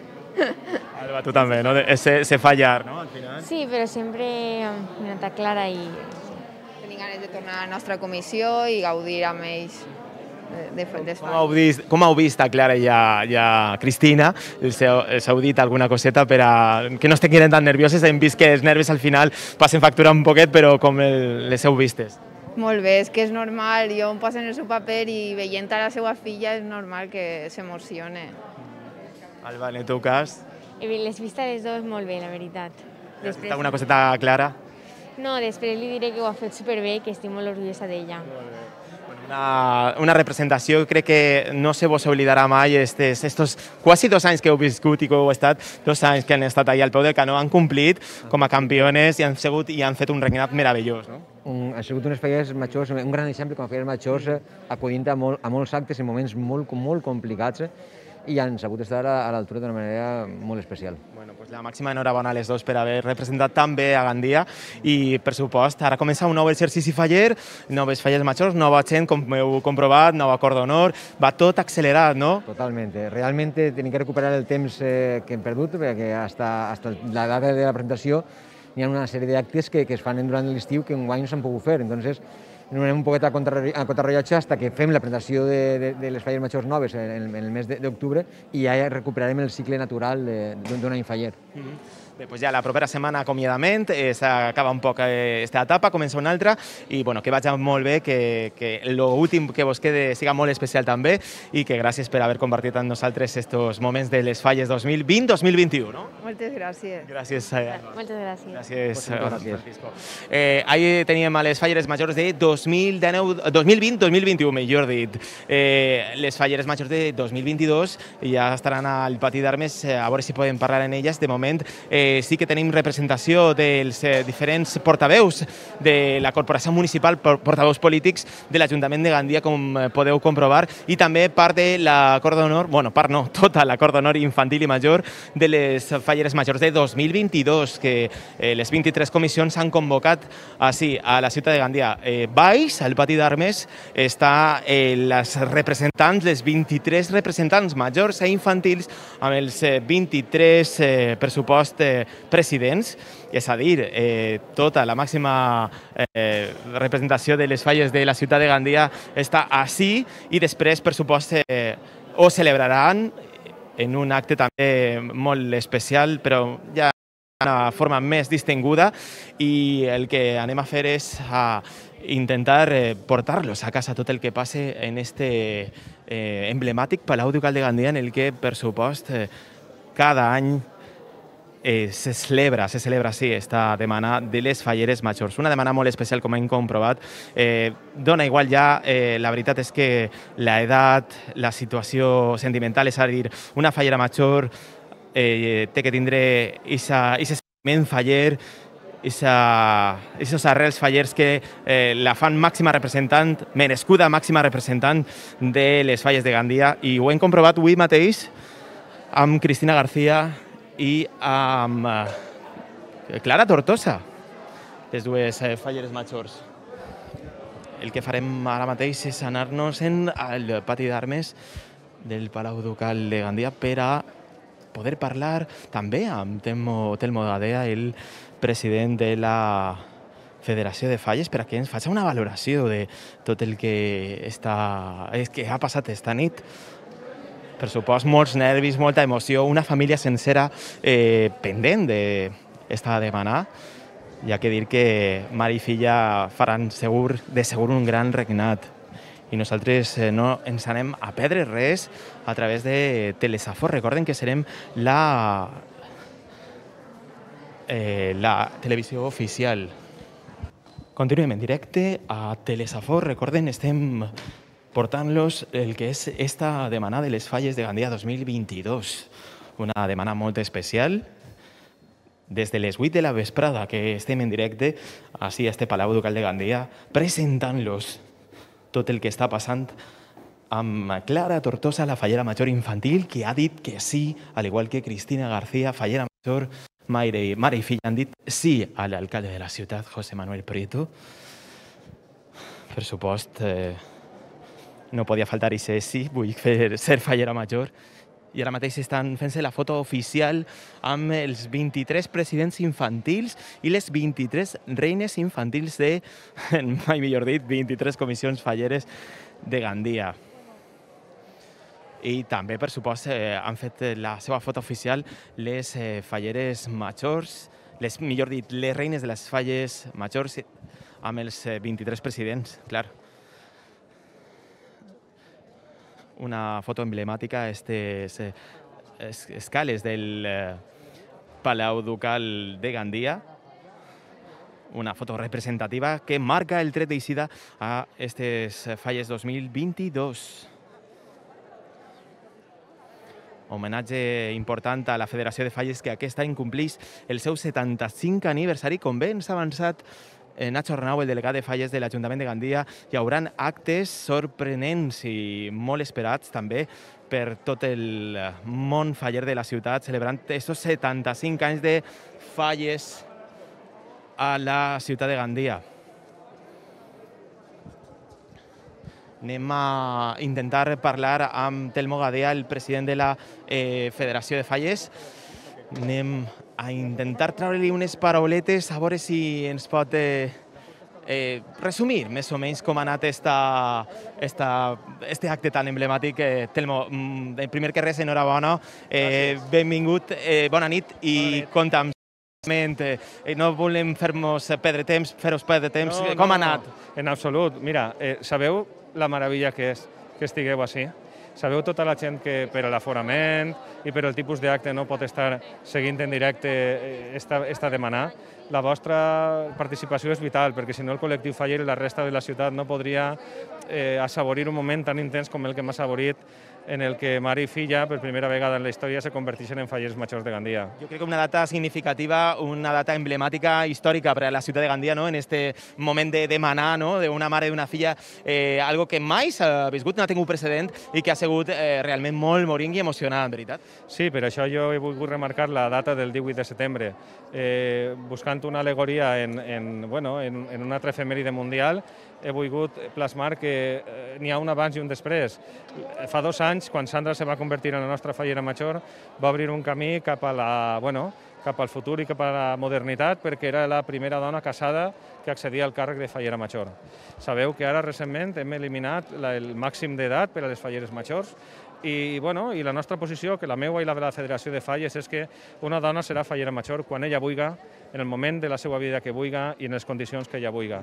Alba, tu també, no? Se fallar, no? Al final. Sí, però sempre amb una nota clara i... Tenim ganes de tornar a la nostra comissió i gaudir amb ells. Com heu vist a Clara i a Cristina? Els heu dit alguna coseta per a que no estiguin tan nervioses? Hem vist que els nervis al final passen factura un poquet, però com les heu vistes? Molt bé, és que és normal, jo em poso en el seu paper i veient a la seva filla és normal que s'emocione. Alba, en el teu cas? Les vistes les dos molt bé, la veritat. Has vist alguna coseta clara? No, després li diré que ho ha fet superbé i que estic molt orgullosa d'ella. Una representació, crec que no se vos oblidarà mai estos quasi 2 anys que heu viscut i que heu estat, 2 anys que han estat allà al peu del canó, han complit com a campiones i han fet un regnat meravellós, no? Han sigut unes falles majors, un gran exemple com a falles majors, acudint a molts actes en moments molt complicats, i han sabut estar a l'altura d'una manera molt especial. Bueno, pues la màxima enhorabona a les dos per haver representat tan bé a Gandia i, per supost, ara comença un nou exercici faller, noves falles majors, nova gent, com heu comprovat, nou acord d'honor, va tot accelerat, no? Totalment. Realment tenim que recuperar el temps que hem perdut, perquè hasta la data de la presentació hi ha una sèrie d'actes que es fan durant l'estiu que enguany no s'han pogut fer. Entonces, anem un poquet a contrarrellotge fins que fem la presentació de les falles majors noves en el mes d'octubre i ja recuperarem el cicle natural d'un any faller. Bé, doncs ja la propera setmana acomiadament, s'acaba un poc aquesta etapa, comença una altra i bueno, que vagi molt bé, que l'últim que vos quede siga molt especial també i que gràcies per haver compartit amb nosaltres estos moments de les falles 2020-2021, no? Moltes gràcies. Gràcies. Moltes gràcies. Gràcies, Francisco. Ahí teníem a les falleres majors de 2020-2021, millor dit. Les falleres majors de 2022 ja estaran al pati d'armes, a veure si podem parlar en elles. De moment sí que tenim representació dels diferents portaveus de la Corporació Municipal, portaveus polítics de l'Ajuntament de Gandia, com podeu comprovar, i també part de l'acord d'honor, bueno, part no, tota l'acord d'honor infantil i major de les falleres majors de 2022, que les 23 comissions s'han convocat així a la ciutat de Gandia. Baix, al pati d'armes, està les representants, les 23 representants majors i infantils amb els 23 pressupost presidents, és a dir, tota la màxima representació de les falles de la ciutat de Gandia està així i després, per supost, ho celebraran en un acte també molt especial, però ja d'una forma més distinguda, i el que anem a fer és intentar portar-los a casa tot el que passe en este emblemàtic Palau Ducal de Gandia, en el que, per supost, cada any se celebra sí, esta demana de les falleres majors. Una demana molt especial, com hem comprovat. Dona igual ja, la veritat és que l'edat, la situació sentimental, és a dir, una fallera major té que tindre aquest sentiment faller, aquests arrels fallers que la fan màxima representant, merescuda màxima representant de les falles de Gandia, i ho hem comprovat avui mateix amb Cristina García i amb Clara Tortosa, les dues falleres majors. El que farem ara mateix és anar-nos al pati d'armes del Palau Ducal de Gandia per a poder parlar també amb Telmo Gadea, el president de la Federació de Falles, per a que ens faci una valoració de tot el que ha passat esta nit. Per supost, molts nervis, molta emoció, una família sencera pendent d'esta demana. Hi ha que dir que mare i filla faran de segur un gran regnat. I nosaltres no ens anem a perdre res a través de Telesafor. Recorden que serem la televisió oficial. Continuem en directe a Telesafor. Recorden, estem portant-los el que és esta demana de les falles de Gandia 2022. Una demana molt especial. Des de les 8 de la vesprada que estem en directe així a este Palau Ducal de Gandia, presentant-los tot el que està passant amb Clara Tortosa, la fallera major infantil, que ha dit que sí, al igual que Cristina García, fallera major, mare i filla, han dit sí a l'alcalde de la ciutat, José Manuel Prieto. Per supost, no podia faltar i sí, vull ser fallera major. I ara mateix estan fent-se la foto oficial amb els 23 presidents infantils i les 23 reines infantils de, mai millor dit, 23 comissions falleres de Gandia. I també, per supost, han fet la seva foto oficial les falleres majors, millor dit, les reines de les falles majors amb els 23 presidents, clar. Una foto emblemàtica, aquestes escales del Palau Ducal de Gandia. Una foto representativa que marca el tret d'eixida a aquestes falles 2022. Homenatge important a la Federació de Falles, que aquest any compleix el seu 75 aniversari, com bé ens ha avançat Nacho Arnau, el delegat de falles de l'Ajuntament de Gandia. Hi haurà actes sorprenents i molt esperats també per tot el món faller de la ciutat, celebrant aquests 75 anys de falles a la ciutat de Gandia. Anem a intentar parlar amb Telmo Gadea, el president de la Federació de Falles. Anem a intentar treure-li unes parauletes, a veure si ens pot resumir més o menys com ha anat este acte tan emblemàtic. Telmo, primer que res, enhorabona, benvingut, bona nit i compta amb no volem fer-vos perdre temps, com ha anat? En absolut. Mira, sabeu la meravella que és que estigueu així? Sabeu tota la gent que per l'aforament i per el tipus d'acte no pot estar seguint en directe esta demanar? La vostra participació és vital, perquè si no el col·lectiu faller i la resta de la ciutat no podria assaborir un moment tan intens com el que hem assaborit en el que mare i filla, per primera vegada en la història, se converteixen en fallers majors de Gandia. Jo crec que una data significativa, una data emblemàtica, històrica per a la ciutat de Gandia, en este moment de demanar d'una mare i d'una filla, algo que mai s'ha viscut, no ha tingut precedent i que ha sigut realment molt morinc i emocionant, veritat? Sí, per això jo he volgut remarcar la data del 18 de setembre. Buscant una alegoria en una altra efemèride mundial, he volgut plasmar que n'hi ha un abans i un després. Fa 2 anys, quan Sandra se va convertir en la nostra fallera major, va obrir un camí cap al futur i cap a la modernitat, perquè era la primera dona casada que accedia al càrrec de fallera major. Sabeu que ara recentment hem eliminat el màxim d'edat per a les falleres majors i la nostra posició, que la meva i la de la Federació de Falles, és que una dona serà fallera major quan ella vulgui, en el moment de la seva vida que vulgui i en les condicions que ella vulgui.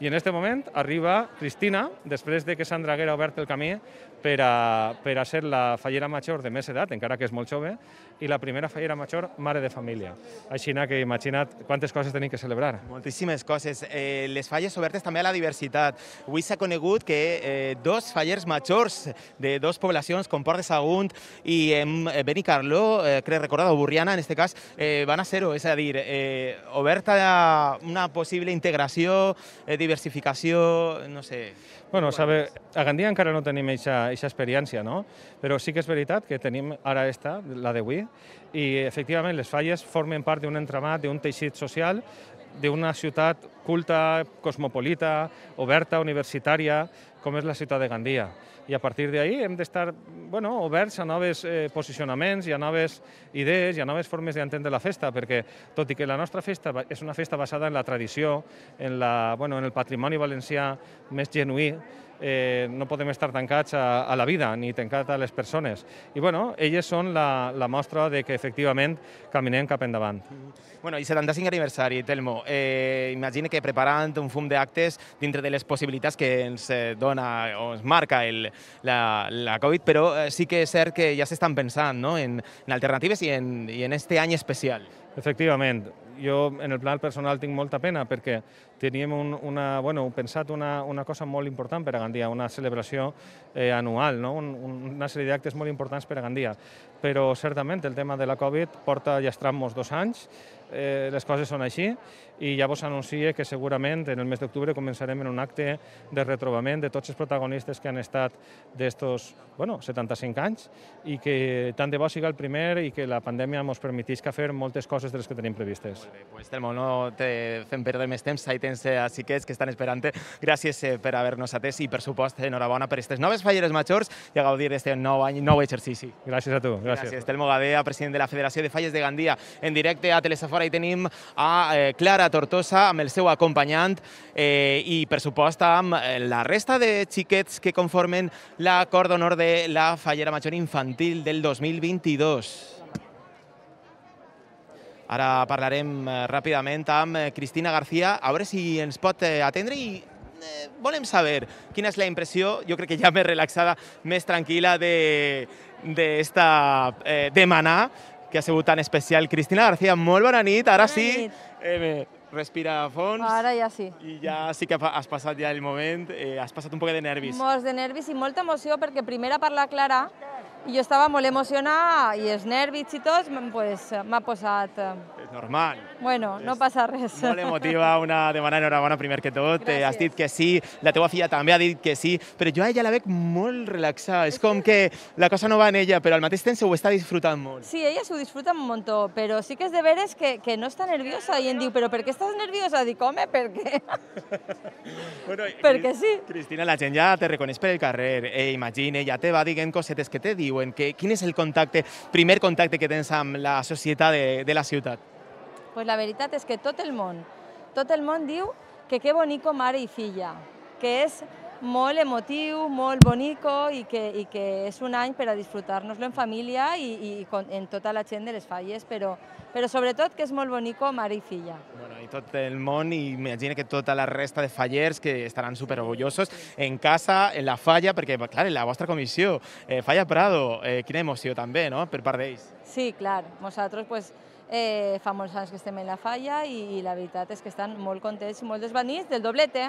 I en aquest moment arriba Cristina, després de que Sandra haguera obert el camí per a ser la fallera major de més edat, encara que és molt jove, i la primera fallera major mare de família. Així que imagina't quantes coses tenim que celebrar. Moltíssimes coses. Les falles obertes també a la diversitat. Avui s'ha conegut que 2 fallers majors de 2 poblacions, com Port de Sagunt i Benicarló, crec recordar, o Burriana, en aquest cas, van a ser-ho, és a dir, oberta a una possible integració, diversificació, no sé. Bueno, a Gandia encara no tenim aquesta experiència, no? Però sí que és veritat que tenim ara la d'avui, i efectivament les falles formen part d'un entramat, d'un teixit social, d'una ciutat culta, cosmopolita, oberta, universitària, com és la ciutat de Gandia. I a partir d'ahí hem d'estar oberts a nous posicionaments i a noves idees i a noves formes d'entendre la festa, perquè tot i que la nostra festa és una festa basada en la tradició, en el patrimoni valencià més genuí, no podem estar tancats a la vida ni tancats a les persones. I elles són la mostra de que efectivament caminem cap endavant. I 75 aniversari, Telmo. Imagina que preparant un fum d'actes dintre de les possibilitats que ens dona o ens marca la Covid, però sí que és cert que ja s'estan pensant en alternatives i en este any especial. Efectivament. Jo, en el plan personal, tinc molta pena perquè teníem pensat una cosa molt important per a Gandia, una celebració anual, una sèrie d'actes molt importants per a Gandia. Però, certament, el tema de la Covid porta llastrant-nos 2 anys, les coses són així, i ja vos anuncio que segurament en el mes d'octubre començarem en un acte de retrobament de tots els protagonistes que han estat d'estos 75 anys i que tant de bo siga el primer i que la pandèmia ens permetisca fer moltes coses de les que tenim previstes. Molt bé, doncs Telmo, no te fem perdre més temps, ahí tens a xiquets que estan esperant. Gràcies per haver-nos atès i, per supost, enhorabona per aquestes noves falleres majors i a gaudir d'aquest nou any, nou exercici. Gràcies a tu. Gràcies. Telmo Gadea, president de la Federació de Falles de Gandia. En directe a Telesafora hi tenim a Clara Tortosa amb el seu acompanyant i, per supost, amb la resta de xiquets que conformen l'acord d'honor de la fallera major infantil del 2022. Ara parlarem ràpidament amb Cristina García, a veure si ens pot atendre i volem saber quina és la impressió, jo crec que ja més relaxada, més tranquil·la d'esta demanar, que ha sigut tan especial. Cristina García, molt bona nit, ara sí. Respira a fons. Ara ja sí. I ja sí que has passat ja el moment, has passat un poc de nervis. Molts de nervis i molta emoció, perquè primer a parlar Clara i jo estava molt emocionada i els nervis i tot m'ha posat... Normal. Bueno, no passa res. Molt emotiva, una demana enhorabona primer que tot. Has dit que sí, la teva filla també ha dit que sí, però jo a ella la veig molt relaxada. És com que la cosa no va en ella, però al mateix temps ho està disfrutant molt. Sí, ella s'ho disfruta un muntó, però sí que és de veres que no està nerviosa i em diu, però per què estàs nerviosa? Dic, home, per què? Bueno, perquè sí. Cristina, la gent ja te reconeix per el carrer, imagina, ja te va dient cosetes que te diuen, quin és el primer contacte que tens amb la societat de la ciutat? Pues la veritat és que tot el món diu que bonico mare i filla, que és molt emotiu, molt bonico i que és un any per a disfrutar-nos-lo en família i en tota la gent de les Falles, però sobretot que és molt bonico mare i filla. Bueno, i tot el món, i m'imagino que tota la resta de fallers que estaran superorgullosos en casa, en la Falla, perquè, clar, en la vostra comissió, Falla Prado, quina emoció també, no?, per part d'ells. Sí, clar, nosaltres, pues, fa molts anys que estem en la Falla i la veritat és que estan molt contents i molt desvanits del doblete.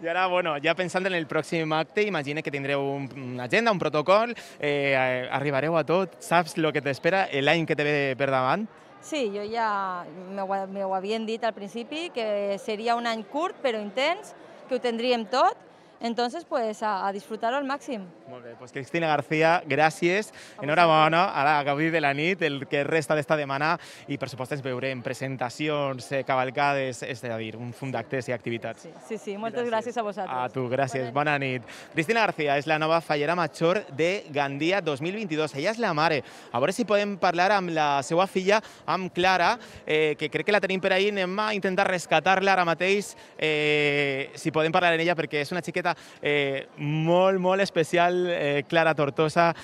I ara, bueno, ja pensant en el pròxim acte, imagina que tindreu una agenda, un protocol, arribareu a tot, saps el que t'espera l'any que te ve per davant? Sí, jo ja m'ho havien dit al principi, que seria un any curt però intens, que ho tindríem tot, entonces pues a disfrutar-ho al màxim. Molt bé, doncs Cristina García, gràcies, enhorabona, ara a gaudir de la nit, el que resta d'esta setmana i per supost ens veurem presentacions, cavalcades, és a dir, un fum d'actes i activitats. Sí, moltes gràcies a vosaltres. A tu, gràcies, bona nit. Cristina García és la nova fallera major de Gandia 2022, ella és la mare. A veure si podem parlar amb la seva filla, amb Clara, que crec que la tenim per ahí, anem a intentar rescatar-la ara mateix, si podem parlar amb ella, perquè és una xiqueta molt especial, Clara Tortosa,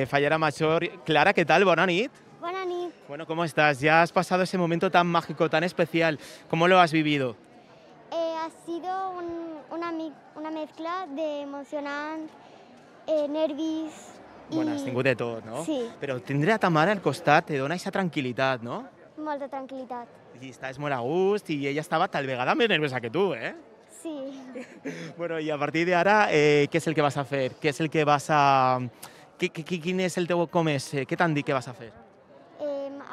fallera mayor. Clara, ¿qué tal? Buena nit. Buena nit. Bueno, ¿cómo estás? Ya has pasado ese momento tan mágico, tan especial. ¿Cómo lo has vivido? Ha sido una mezcla de emocionante, nervis i... Bueno, has tingut de tot, no? Sí. Però tindre a ta mare al costat te dona aquesta tranquil·litat, no? Molta tranquil·litat. I estàs molt a gust i ella estava tal vegada més nerviosa que tu, eh? Sí. Bueno, i a partir d'ara, què és el que vas a fer? Què és el que vas a... Quin és el teu comès? Què t'han dit que vas a fer?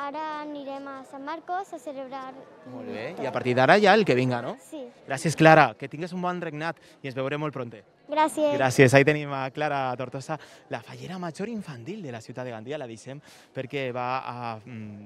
Ara anirem a Sant Marcos a celebrar... Molt bé, i a partir d'ara ja el que vinga, no? Sí. Gràcies, Clara, que tingues un bon regnat i ens veurem molt pronte. Gràcies. Gràcies, ahí tenim a Clara Tortosa, la fallera major infantil de la ciutat de Gandia, la deixem perquè va a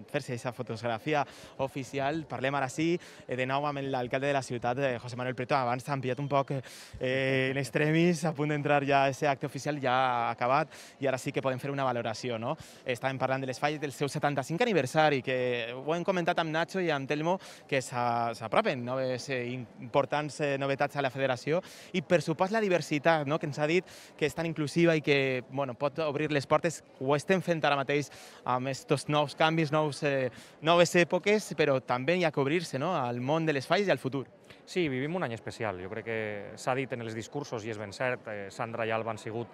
fer-se aquesta fotografia oficial. Parlem ara sí, de nou amb l'alcalde de la ciutat, José Manuel Preto. Abans t'han pillat un poc en extremis, a punt d'entrar ja a aquest acte oficial, ja ha acabat, i ara sí que podem fer una valoració, no? Estàvem parlant de les falles del seu 75 aniversari, que ho hem comentat amb Nacho i amb Telmo, que s'apropen noves importants novetats a la federació, i per supost la diversitat, no?, que ens ha dit que és tan inclusiva i que pot obrir les portes. Ho estem fent ara mateix amb aquests nous canvis, noves èpoques, però també hi ha que obrir-se al món de les falles i al futur. Sí, vivim un any especial. Jo crec que s'ha dit en els discursos, i és ben cert, Sandra i Alba han sigut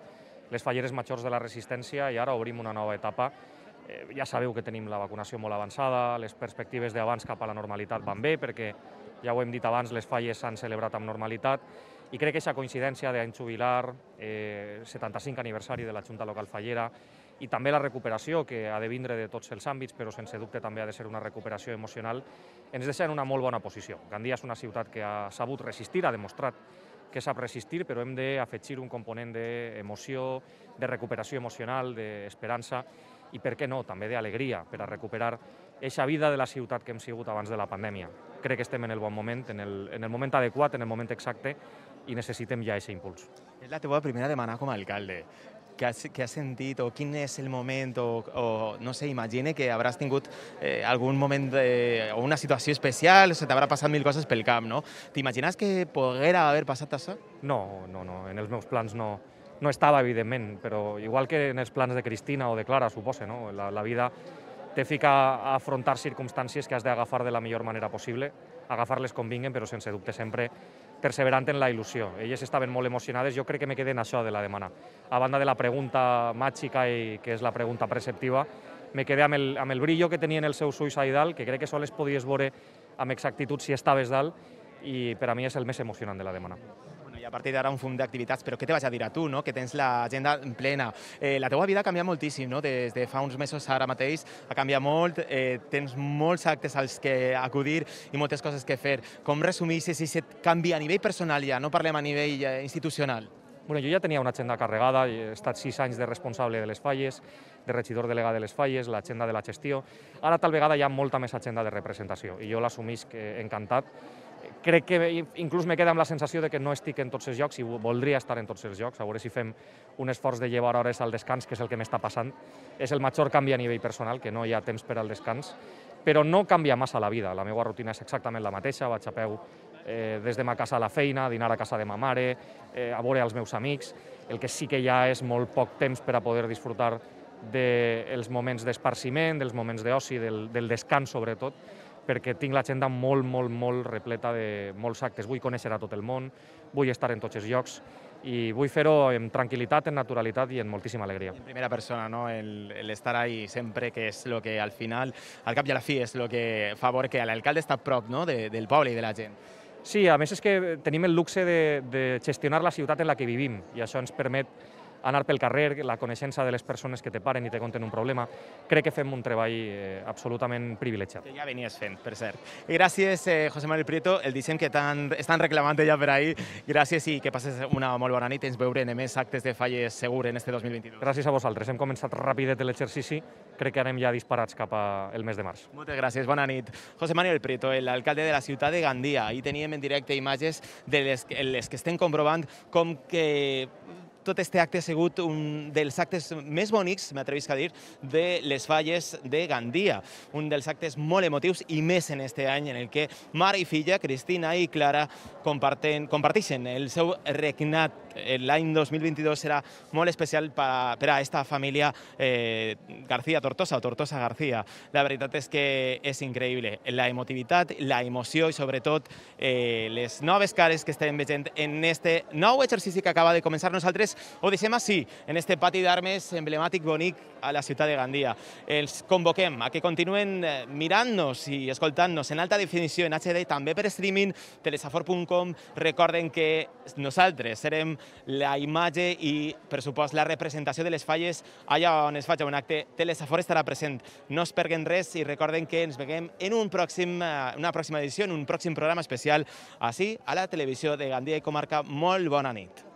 les falleres majors de la resistència i ara obrim una nova etapa. Ja sabeu que tenim la vacunació molt avançada, les perspectives d'abans cap a la normalitat van bé, perquè, ja ho hem dit abans, les falles s'han celebrat amb normalitat, i crec que aquesta coincidència d'any jubilar, 75 aniversari de la Junta Local Fallera, i també la recuperació, que ha de vindre de tots els àmbits, però sense dubte també ha de ser una recuperació emocional, ens deixa en una molt bona posició. Gandia és una ciutat que ha sabut resistir, ha demostrat que sap resistir, però hem d'afegir un component d'emoció, de recuperació emocional, d'esperança, i per què no, també d'alegria, per a recuperar aquesta vida de la ciutat que hem sigut abans de la pandèmia. Crec que estem en el bon moment, en el moment adequat, en el moment exacte, i necessitem ja aquest impuls. És la teva primera demana com a alcalde. Què has sentit, o quin és el moment, o no sé, imagina que hauràs tingut algun moment o una situació especial, o se t'haurà passat mil coses pel cap, no? T'imagines que poguera haver passat això? No, en els meus plans no estava, evidentment, però igual que en els plans de Cristina o de Clara, suposa, no? La vida te fica a afrontar circumstàncies que has d'agafar de la millor manera possible, agafar-les com vinguen, però sense dubte sempre perseverant en la il·lusió. Elles estaven molt emocionades, jo crec que me quedé en això de la demana. A banda de la pregunta màgica, que és la pregunta preceptiva, me quedé amb el brillo que tenien els seus ulls a dalt, que crec que sols podies veure amb exactitud si estaves dalt, i per a mi és el més emocionant de la demana. Bueno, i a partir d'ara un fum d'activitats, però què te vaig a dir a tu, no? Que tens l'agenda plena. La teua vida ha canviat moltíssim, no? Des de fa uns mesos ara mateix ha canviat molt, tens molts actes als que acudir i moltes coses que fer. Com resumeixes aquest canvi a nivell personal ja, no parlem a nivell institucional? Bueno, jo ja tenia una agenda carregada, he estat 6 anys de responsable de les falles, de regidor delegat de les falles, l'agenda de la gestió. Ara tal vegada hi ha molta més agenda de representació i jo l'assumisc encantat. Crec que inclús me queda amb la sensació de que no estic en tots els llocs i voldria estar en tots els llocs, a veure si fem un esforç de llevar hores al descans, que és el que m'està passant. És el major canvi a nivell personal, que no hi ha temps per al descans, però no canvia massa la vida. La meva rutina és exactament la mateixa, vaig a peu des de ma casa a la feina, a dinar a casa de ma mare, a veure els meus amics. El que sí que hi ha és molt poc temps per a poder disfrutar dels moments d'esparciment, dels moments d'oci, del descans sobretot, perquè tinc l'agenda molt repleta de molts actes. Vull conèixer a tot el món, vull estar en tots els llocs i vull fer-ho amb tranquil·litat, en naturalitat i en moltíssima alegria. En primera persona, no? El estar ahí sempre, que és el que al final, al cap i a la fi, és el que fa veure que l'alcalde està a prop, no? del poble i de la gent. Sí, a més és que tenim el luxe de gestionar la ciutat en la que vivim i això ens permet anar pel carrer, la coneixença de les persones que te paren i te conten un problema. Crec que fem un treball absolutament privilegiat. Que ja venies fent, per cert. I gràcies, José Manuel Prieto, el disseny que estan reclamant ja per ahir. Gràcies i que passes una molt bona nit. Ens veurem en més actes de falles segur en este 2022. Gràcies a vosaltres. Hem començat rapidet l'exercici. Crec que anem ja disparats cap al mes de març. Moltes gràcies, bona nit. José Manuel Prieto, l'alcalde de la ciutat de Gandia. Ahir teníem en directe imatges de les que estem comprovant com que tot este acte ha sigut un dels actes més bonics, m'atrevisc a dir, de les falles de Gandia. Un dels actes molt emotius i més en este any en el que mare i filla, Cristina i Clara, comparteixen el seu regnat. L'any 2022 serà molt especial per a aquesta família García Tortosa o Tortosa García. La veritat és que és increïble. La emotivitat, la emoció i sobretot les noves cares que estem veient en este nou exercici que acaba de començar. Nosaltres ho deixem així, en este pati d'armes emblemàtic bonic a la ciutat de Gandia. Els convoquem a que continuen mirant-nos i escoltant-nos en alta definició, en HD, també per streaming, telesafor.com. Recorden que nosaltres serem la imatge i, per supost, la representació de les falles allà on es faci un acte. Telesafor estarà present. No es perden res i recorden que ens veiem en una pròxima edició, en un pròxim programa especial, així, a la televisió de Gandia i Comarca. Molt bona nit.